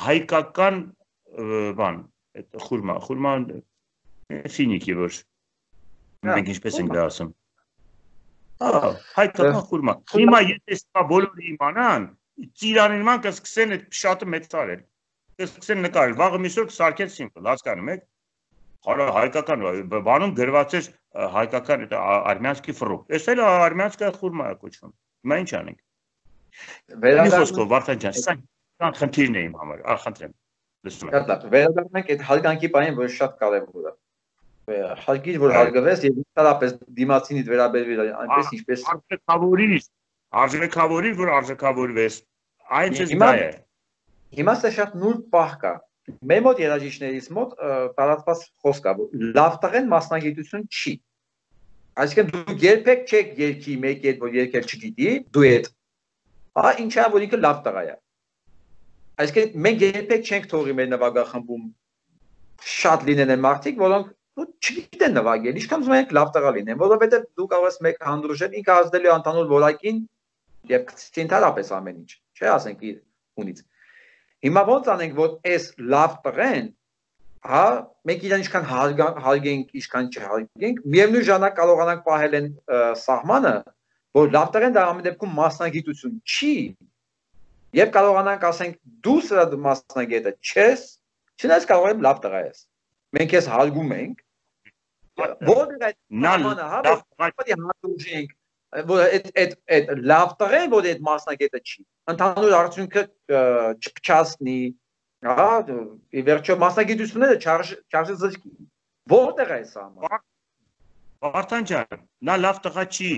B: հայկական բան, այդ խուրմա, խուրմա ֆինիկի որ մենք ինչպես ենք դա ասում։ Հա, հայկական խուրմա։ Հիմա եթե սա բոլորը իմանան, ծիրանին ման կսկսեն այդ փշատը մեծարել։ Կսկսեն նկարել, վաղը միսօր կսարքեն սիմվոլ, հասկանում եք։ Հորա հայկական բանում գրված էր հայկական արմյանսկի ֆրուկտ։ Էս էլ արմյանսկա խուրմա է կոչվում։ Հիմա ինչ անենք։ Մի խոսքով Վարդան ջան, սա կան խնդիրն է իմ համար, ախնդրեմ։ Լսում եք։
C: Հա, վերադառնանք այդ հարգանքի բանին, որը շատ կարևոր է։ Հարգիր, որ հարգվես եւ ինքնապես դիմացինից վերաբերվիր այնպես ինչպես
B: արժեքավորիր, արժեքավորիր, որ արժեքավորվես։ Այն չէ դա է։
C: Հիմա սա շատ նուրբ պահ կա։ Մեր մոտ երաժիշտներից մոտ տարածված խոսք կա, որ լավ տղեն մասնագիտություն չի։ Այսինքն դու երբեք չեք երկի մեկ այդ որ երկել չգիտի, դուետ։ Ահա ինչա որ ինքը լավ տղա է։ Այսինքն մենք երբեք չենք թողի մեր նվագախմբում շատ լինեն են մարդիկ, որոնք չգիտեն նվագել, ինչքան ուզում ենք լավ տղա լինեն, որովհետև դու կարող ես մեկ հանդուրժել, ինքը ազդելու անտանուր որակին եւ կցին ընդհանրապես ամեն ինչ, չէ՞ ասենք իր ունից։ Հիմա ոնց անենք, որ այս լավ տղեն, հա, մենք իրան ինչքան հարգենք, ինչքան չհարգենք, միևնույն ժամանակ կարողանանք պահել են սահմանը, որ լավ տղեն դա ամեն դեպքում մասնագիտություն չի, եւ կարողանանք ասենք դու սրա մասնագետը չես, չնայած կարող եմ լավ տղա ես։ Մենք ես հարգում ենք, որտեղ այդ սահմանը, հա, պետք է հանդուրժենք, որ այդ այդ լավ տղեն, որ այդ մասնագետը չի, ընդհանուր արդյունքը չփչացնի, հա, ի վերջո մասնագիտությունները չարժե զրկի։ Որտեղ է սա։
B: Վարդան ջան, նա լավ տղա չի,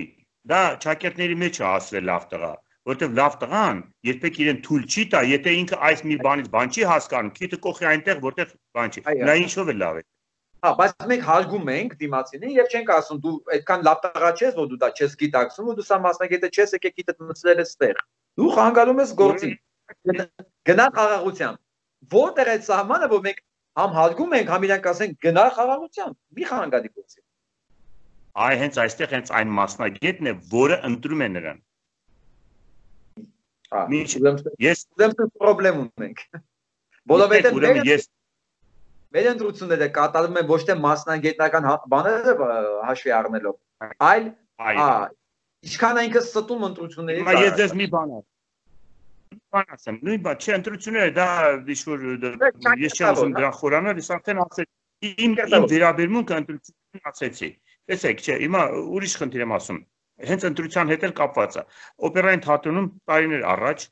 B: դա ճակերտների մեջ է ասել լավ տղա, որտեղ լավ տղան երբեք իրեն թույլ չի տա, եթե ինքը այս մի բանից բան չի հասկանում, քիթը կողի այնտեղ, որտեղ բան չի։ Նա ինչով է լավ է։
C: Հա, բայց մենք հարգում ենք դիմացինին եւ չենք ասում դու այդքան լավ տղա չես, որ դու դա չես գիտակցում, ու դու սա մասնագետը չես, եկեք գիտդ մտցրել ես տեղ։ Դու խանգարում ես գործին։ Գնա խաղաղությամբ։ որտեղ է սահմանը, որ մենք համ հարգում ենք, համ իրանք ասենք գնա խաղաղության, մի խանգարի գործի։
B: Այ հենց այստեղ հենց այն մասնագետն է, որը ընտրում է նրան։
C: Ես ուրեմն խնդրեմ ունենք։ Որովհետև ես մեր ընտրությունները կատարում են ոչ թե մասնագիտական բաները հաշվի առնելով, այլ ինչքան այնքան ստում ընտրություններից։
B: Հիմա ես ձեզ մի բան բան ասեմ, նույն բան, չէ, ընտրությունները դա ինչ-որ ես չեմ ուզում դրան խորանալ, ես արդեն ասեցի, իմ վերաբերմունքը ընտրություններին ասեցի։ Տեսեք, չէ, հիմա ուրիշ խնդիր եմ ասում, հենց ընտրության հետ էլ կապված է։ Օպերային թատրոնում տարիներ առաջ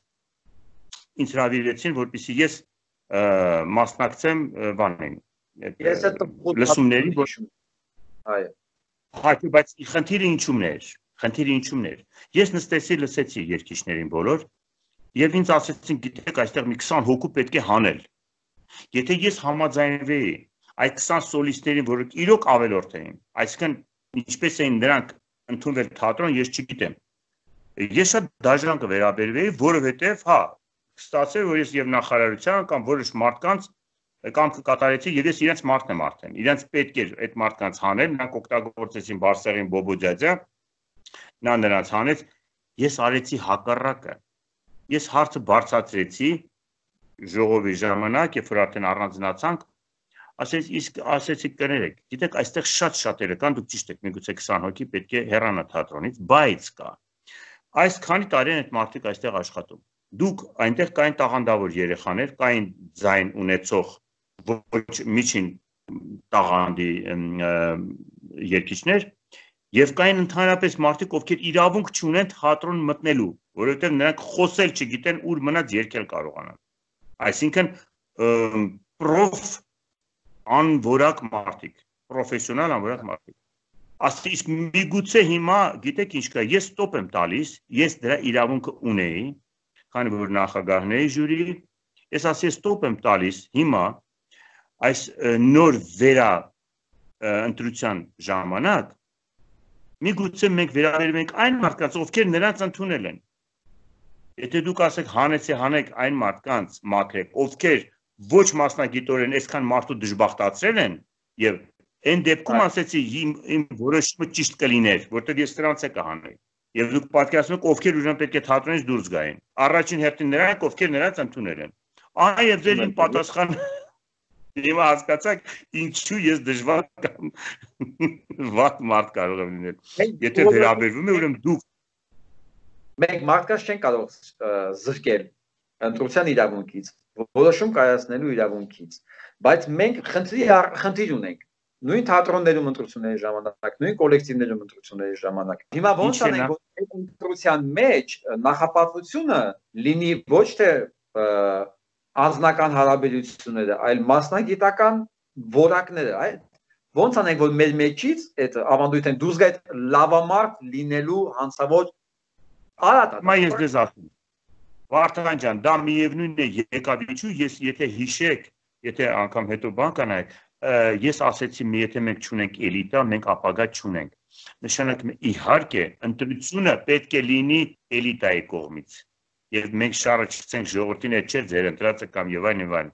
B: ինձ հրավիրեցին, որպեսզի ես մասնակցեմ բանին, լսումների,
C: այո։
B: Հայ, բայց խնդիրը ինչումն էր, խնդիրը ինչումն էր։ Ես նստեցի, լսեցի երգիչներին բոլոր, եւ ինձ ասեցին, գիտեք, այստեղ մի քսան հոգու պետք է հանել։ Եթե ես համաձայնվեի այդ քսան սոլիստներին, որը իրոք ավելորդ էին, այսինքն ինչպես էին նրանք ընդունվել թատրոն, ես չգիտեմ։ Ես շատ դաժան կվերաբերվեի, որովհետև, հա, ստացել որ ես եւ նախարարության կամ որոշ մարդկանց կամ կկատարեցի եւ ես իրենց մարդն եմ արդեն։ Իրենց պետք էր այդ մարդկանց հանել, նրանք օգտագործեցին Բարսեղին Բոբոջաջա, նա նրանց հանեց, ես արեցի հակառակը։ Ես հարցը բարձրացրեցի ժողովի ժամանակ, երբ որ արդեն առանձնացանք, ասեց, իսկ ասեցի կներեք, գիտեք, այստեղ շատ շատերը կան, դուք ճիշտ եք, միգուցե քսան հոգի պետք է հեռանա թատրոնից, բայց կա։ Այս քանի տարի են այդ մարդիկ այստեղ աշխատում։ Դուք այնտեղ կային տաղանդավոր երեխաներ, կային ձայն ունեցող ոչ միջին տաղանդի երգիչներ եւ կային ընդհանրապես մարդիկ, ովքեր իրավունք չունեն թատրոն մտնելու, որովհետեւ նրանք խոսել չգիտեն, ուր մնաց երգել կարողանան։ Այսինքն պրոֆ անվորակ մարդիկ, պրոֆեսիոնալ անվորակ մարդիկ։ Ասի իսկ միգուցե հիմա, գիտեք ինչ կա, ես ստոպ եմ տալիս, ես դրա իրավունքը ունեի, քանի որ նախագահն էի ժյուրի, ես ասի ստոպ եմ տալիս հիմա այս նոր վերա ընտրության ժամանակ, միգուցե մենք վերաբերում ենք այն մարդկանց, ովքեր նրանց ընդունել են։ Եթե դուք ասեք հանեցի հանեք այն մարդկանց մաքրեք, ովքեր ոչ մասնագիտորեն այսքան մարդու դժբախտացրել են եւ այն դեպքում ասեցի իմ որոշումը ճիշտ կլիներ, որտեղ ես նրանց է կհանեի։ Եվ դուք պատկերացնում եք ովքեր ուրեմն պետք է թատրոնից դուրս գային։ Առաջին հերթին նրանք, ովքեր նրանց ընդունել են։ Այ եւ ձեր իմ պատասխան Հիմա հասկացաք ինչու ես դժվար կամ վատ մարդ կարող եմ լինել։ Եթե վերաբերվում է ուրեմն դուք
C: մենք մարդկանց չեն կարող զրկել ընտրության իրավունքից, որոշում կայացնելու իրավունքից, բայց մենք խնդրի խնդիր ունենք նույն թատրոններում ընտրությունների ժամանակ, նույն կոլեկտիվներում ընտրությունների ժամանակ։ Հիմա ոնց անենք, որ այդ ընտրության մեջ նախապատվությունը լինի ոչ թե անձնական հարաբերությունները, այլ մասնագիտական որակները, այ ոնց անենք, որ մեր մեջից այդ ավանդույթն դուրս գա այդ լավամարդ լինելու հանցավոր արատ։
B: Մա ես դες ասում։ Վարդան ջան, դա միևնույնն է եկավ ինչու, ես եթե հիշեք, եթե անգամ հետո բան կանայք, ես ասեցի, մի եթե մենք չունենք էլիտա, մենք ապագա չունենք։ Նշանակում է իհարկե, ընտրությունը պետք է լինի էլիտայի կողմից։ Եվ մենք շարը չցենք ժողովրդին այդ չէ ձեր ընտրածը կամ եւ այն եւ այն։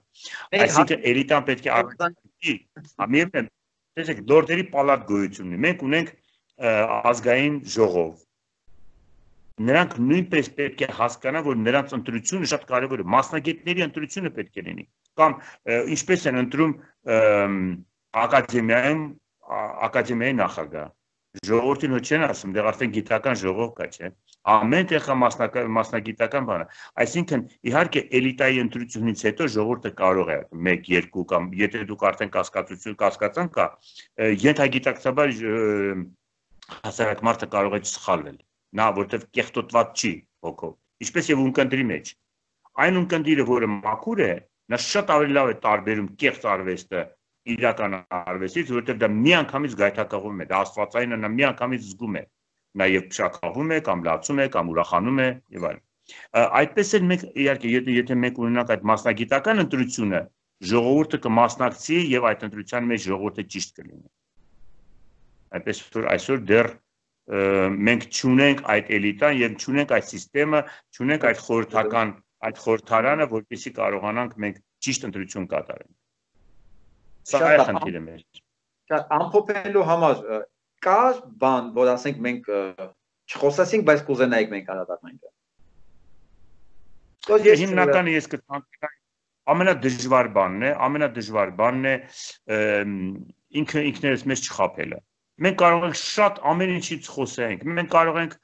B: Այսինքն էլիտան պետք է արդյունքի, ամենը, տեսեք, լորդերի պալատ գոյություն ունի։ Մենք ունենք ազգային ժողով։ Նրանք նույնպես պետք է հասկանան, որ նրանց ընտրությունը շատ կարևոր է, մասնագետների ընտրությունը պետք է լինի։ Կամ ինչպես են ընտրում ակադեմիայում ակադեմիայի նախագահ։ Ժողովրդին ոչ չեն ասում, դեռ արդեն գիտական ժողով կա, չէ։ Ամեն տեղ մասնագիտական բան է։ Այսինքն, իհարկե, էլիտայի ընտրությունից հետո ժողովուրդը կարող է մեկ, երկու կամ եթե դուք արդեն կասկածություն կասկածան կա, ենթագիտակցաբար հասարակ մարդը կարող է սխալվել։ Նա որտեղ կեղտոտված չի հոգով, ինչպես եւ ունկնդրի մեջ։ Այն ունկնդիրը, որը մաքուր է, նա շատ ավելի լավ է տարբերում կեղծ արվեստը իրական արվեստից, որտեղ դա միանգամից գայթակղում է, դա աստվածային է, նա միանգամից զգում է, նաեւ փշակաղում է կամ լացում է կամ ուրախանում է եւ այլն։ Այդպես էլ մենք իհարկե եթե մենք ունենանք այդ մասնագիտական ընտրությունը, ժողովուրդը կմասնակցի եւ այդ ընտրության մեջ ժողովուրդը ճիշտ կլինի։ Այդպես որ այսօր դեռ մենք չունենք այդ էլիտան եւ չունենք այդ համակարգը, չունենք այդ խորհրդական այդ խորհրդարանը, որպեսզի կարողանանք մենք ճիշտ ընտրություն կատարենք։ Սա է խնդիրը մեր։
C: Ամփոփելու համար կա բան, որ ասենք մենք չխոսեցինք, բայց կուզենայինք մենք անդրադառնանք։
B: Հիմնականը ես կտանեմ ամենադժվար բանն է, ամենադժվար բանն է ինքը ինքներս մեզ չխաբելը։ Մենք կարող ենք շատ ամեն ինչից խոսենք, մենք կարող ենք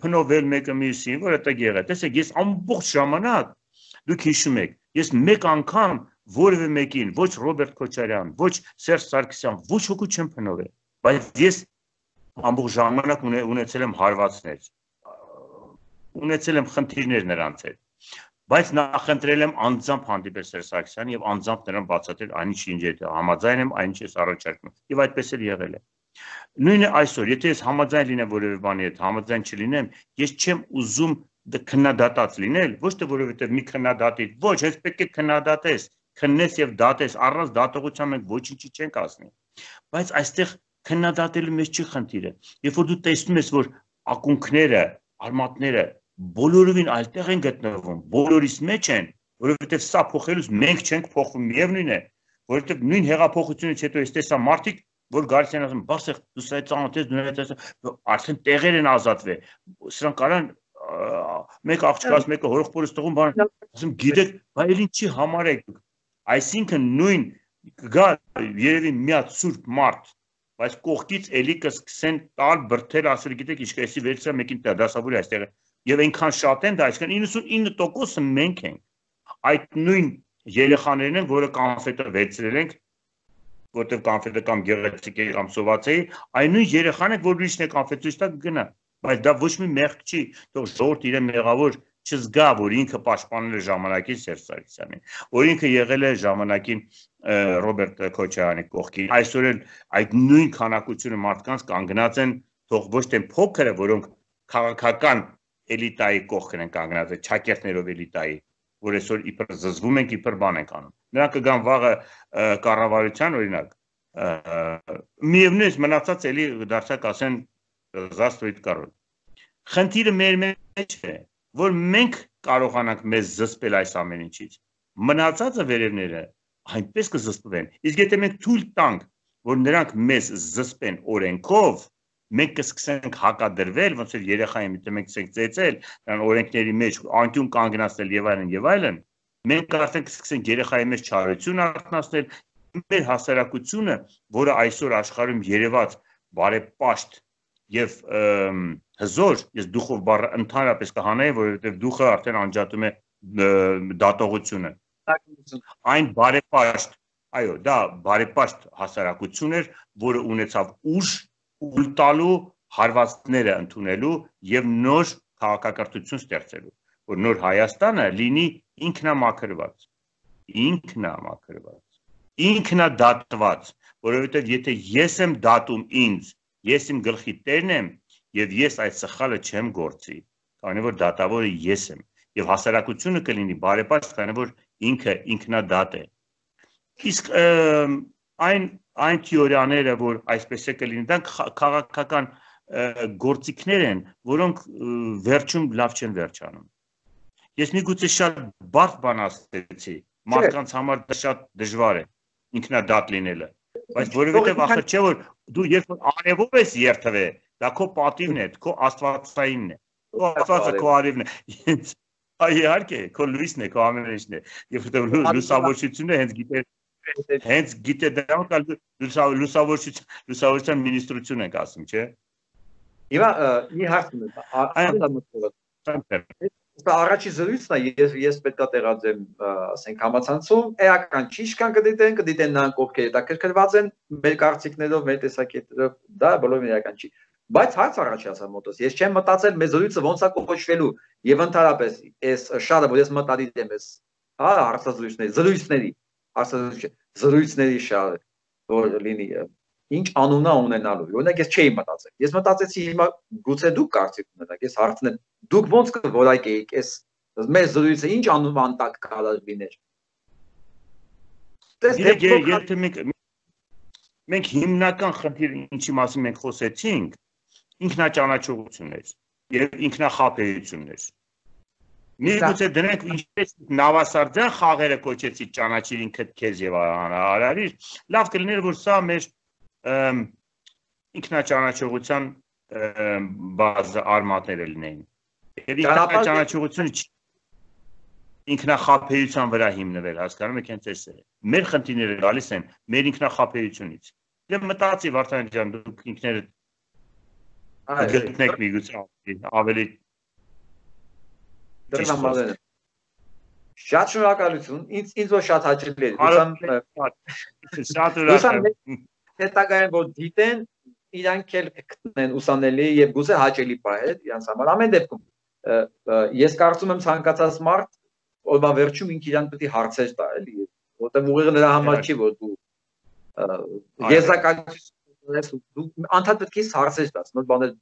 B: փնովել մեկը մյուսին, որ դա եղե։ Տեսեք, ես ամբողջ ժամանակ դուք հիշում եք, ես մեկ անգամ որևէ մեկին, ոչ Ռոբերտ Քոչարյան, ոչ Սերժ Սարգսյան, ոչ ոքի չեմ փնովել, բայց ես ամբողջ ժամանակ ունեցել եմ հարվածներ, ունեցել եմ խնդիրներ նրանց հետ, բայց նախընտրել եմ անձամբ հանդիպել Սերժ Սարգսյանին եւ անձամբ նրան բացատրել այնինչ ինչ է համաձայն եմ, այնինչ ես առաջարկում եւ այդպես էլ եղել է։ Նույնը այսօր, եթե ես համաձայն լինեմ որևէ բանի հետ, համաձայն չլինեմ, ես չեմ ուզում քննադատած լինել, ոչ թե որովհետեւ մի քննադատի, ոչ, հենց պետք է քննադատես, քննես եւ դատես, առանց դատողության մենք ոչինչ չենք ասնի։ Բայց այստեղ քննադատելու մեջ չի խնդիրը։ Երբ որ դու տեսնում ես, որ ակունքները, արմատները բոլորովին այլտեղ են գտնվում, բոլորիս մեջ են, որովհետեւ սա փոխելուց մենք չենք փոխվում, միևնույն է, որովհետեւ նույն հեղափոխությունից հետո ես տեսա մարդիկ, որ գալիս են ասում, բացեք, դու սա ծանոթ ես, դու դա արդեն տեղեր են ազատվել։ Սրանք կարան մեկ աղջկաս, մեկը հորողբորից տղուն բան, ասում գիտեք, բայց ինչի համար եք դուք։ Այսինքն նույն գա երևի մի հատ սուրբ մարդ, բայց կողքից էլի կսկսեն տալ բրթել, ասել գիտեք ինչ կեսի վերցրա մեկին դասավորի այստեղ եւ այնքան շատ են դա, այսինքն իննսունինը տոկոսը մենք ենք։ Այդ նույն երեխաներն են, որը կոնֆետը վերցրել ենք, որտեղ կոնֆետը կամ գեղեցիկ է կամ սովածեի, այն նույն երեխան է, որ ուրիշն է կոնֆետից տակ գնա, բայց դա ոչ մի մեղք չի, թող ժողովուրդ իրեն մեղավոր չզգա, որ ինքը պաշտպանել է ժամանակին Սերժ Սարգսյանին, որ ինքը եղել է ժամանակին Ռոբերտ Քոչարյանի կողքին, այսօր էլ այդ նույն քանակությունը մարդկանց կանգնած են, թող ոչ թե փոքրը, որոնք քաղաքական էլիտայի կողքն են կանգնած, ճակերտներով էլիտայի, որ այսօր իբր զզվում ենք, իբր բան ենք անում։ Նրանք կգան վաղը կառավարության, օրինակ, միևնույն մնացած էլի դարձակ ասեն զաստվույթ կարոտ։ Խնդիրը մեր մեջ է, որ մենք կարողանանք մեզ զսպել այս ամեն ինչից։ Մնացածը վերևները այնպես կզսպվեն։ Իսկ եթե մենք թույլ տանք, որ նրանք մեզ զսպեն օրենքով, մենք կսկսենք հակադրվել, ոնց որ երեխային միտը մենք կսենք ծեծել, նրան օրենքների մեջ անկյուն կանգնացնել եւ այլն եւ այլն, մենք արդեն կսկսենք երեխայի մեջ չարություն արտնասնել, մեր հասարակությունը, որը այսօր աշխարհում երևաց բարեպաշտ եւ հզոր, ես դուխով բառը ընդհանրապես կհանեի, որովհետեւ դուխը արդեն անջատում է դատողությունը։ Այն բարեպաշտ, այո, դա բարեպաշտ հասարակություն էր, որը ունեցավ ուժ ուլ տալու, հարվածները ընդունելու եւ նոր քաղաքակրթություն ստեղծելու, որ նոր Հայաստանը լինի ինքնամաքրված, ինքնամաքրված, ինքնադատված, որովհետեւ եթե ես եմ դատում ինձ, ես իմ գլխի տերն եմ եւ ես այդ սխալը չեմ գործի, քանի որ դատավորը ես եմ եւ հասարակությունը կլինի բարեպաշտ, քանի որ ինքը ինքնադատ է։ Իսկ այն այն թեորիաները, որ այսպես է կլինի, դա քաղաքական գործիքներ են, որոնք վերջում լավ չեն վերջանում։ Ես միգուցե շատ բարդ բան ասեցի, մարդկանց համար դա շատ դժվար է ինքնադատ լինելը, բայց որովհետև ախր չէ որ դու երբ որ արևով ես երթվել, դա քո պատիվն է, քո աստվածայինն է, քո աստվածը քո արևն է։ Իհարկե, քո լույսն է, քո ամեն ինչն է։ Եվ որտեղ լուսավորչությունը հենց գիտե Հենց գիտե դա կալ լուսավորչություն, լուսավորության մինիստրություն ենք ասում, չէ։
C: Եվա մի հարց ունեմ։ Առաջի զրույցն է, ես ես պետք է տեղադրեմ, ասենք համացանցում, էական ճիշտ կան կդիտեն, կդիտեն նրանք ովքեր հետաքրքրված են մեր կարծիքներով, մեր տեսակետերով, դա բոլորովին էական չի։ Բայց հարց առաջացա մոտս, ես չեմ մտածել մեր զրույցը ոնց է կոչվելու եւ ընդհանրապես այս շարը, որ ես մտադիր եմ, այս հա հարցազրույցների, զրույցների զրույցների շարը, որ լինի, ինչ անունա ունենալու, օրինակ ես չէի մտածել, ես մտածեցի հիմա գուցե դուք կարծիք ունենաք, ես հարցն եմ, դուք ոնց կորայքեիք, այս մեր զրույցը ինչ անունան տակ կարող լիներ։
B: Եթե մենք հիմնական խնդիրը ինչի մասին մենք խոսեցինք, ինքնաճանաչողությունն էր եւ ինքնախաբեությունն էր։ Միգուցե դրանք ինչպես նավասարդյան խաղերը կոչեցի ճանաչիր ինքդ քեզ եւ արարիր, լավ կլիներ որ սա մեր ինքնաճանաչողության բազա արմատները լինեին։ Եվ ինքնաճանաչողությունը ինքնախաբեության վրա հիմնվել, հասկանում եք, հենց էս է։ Մեր խնդիրները գալիս են մեր ինքնախաբեությունից։ Դե մտածի Վարդան ջան, դուք ինքներդ գտնեք միգուցե ավելի
C: Շատ շնորհակալություն, ինձ ինձ որ շատ հաճելի էր։
B: Շատ ուրախ եմ։
C: Հետագայում որ դիտեն, իրանք էլ կգտնեն ուսանելի եւ գուցե հաճելի պահել իրանց համար։ Ամեն դեպքում ես կարծում եմ ցանկացած մարդ օրվա վերջում ինքը իրան պետք է հարցեր տա, էլի, որտեղ ուղիղ նրա համար չի որ դու եզակացություն ես դու անդադ պետք է հարցեր տաս, նոր բաներ,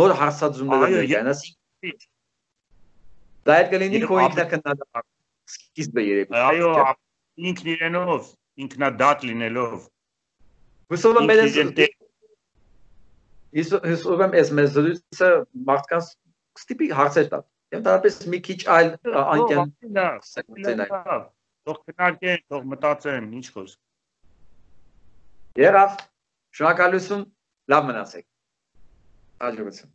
C: նոր հարցադրումներ ներկայանաս։ Դա էլ կլինի քո ինքնակնդատական սկիզբը երևի։
B: Այո, ինքն իրենով, ինքնադատ լինելով։
C: Հուսով եմ ես հուսով եմ ես մեզ զրույցը մարդկանց ստիպի հարցեր տա։ Եվ դարապես մի քիչ այլ անկյան
B: թող քննարկեն, թող մտածեն, ինչ խոսք։
C: Եղավ, շնորհակալություն, լավ մնացեք։ Հաջողություն։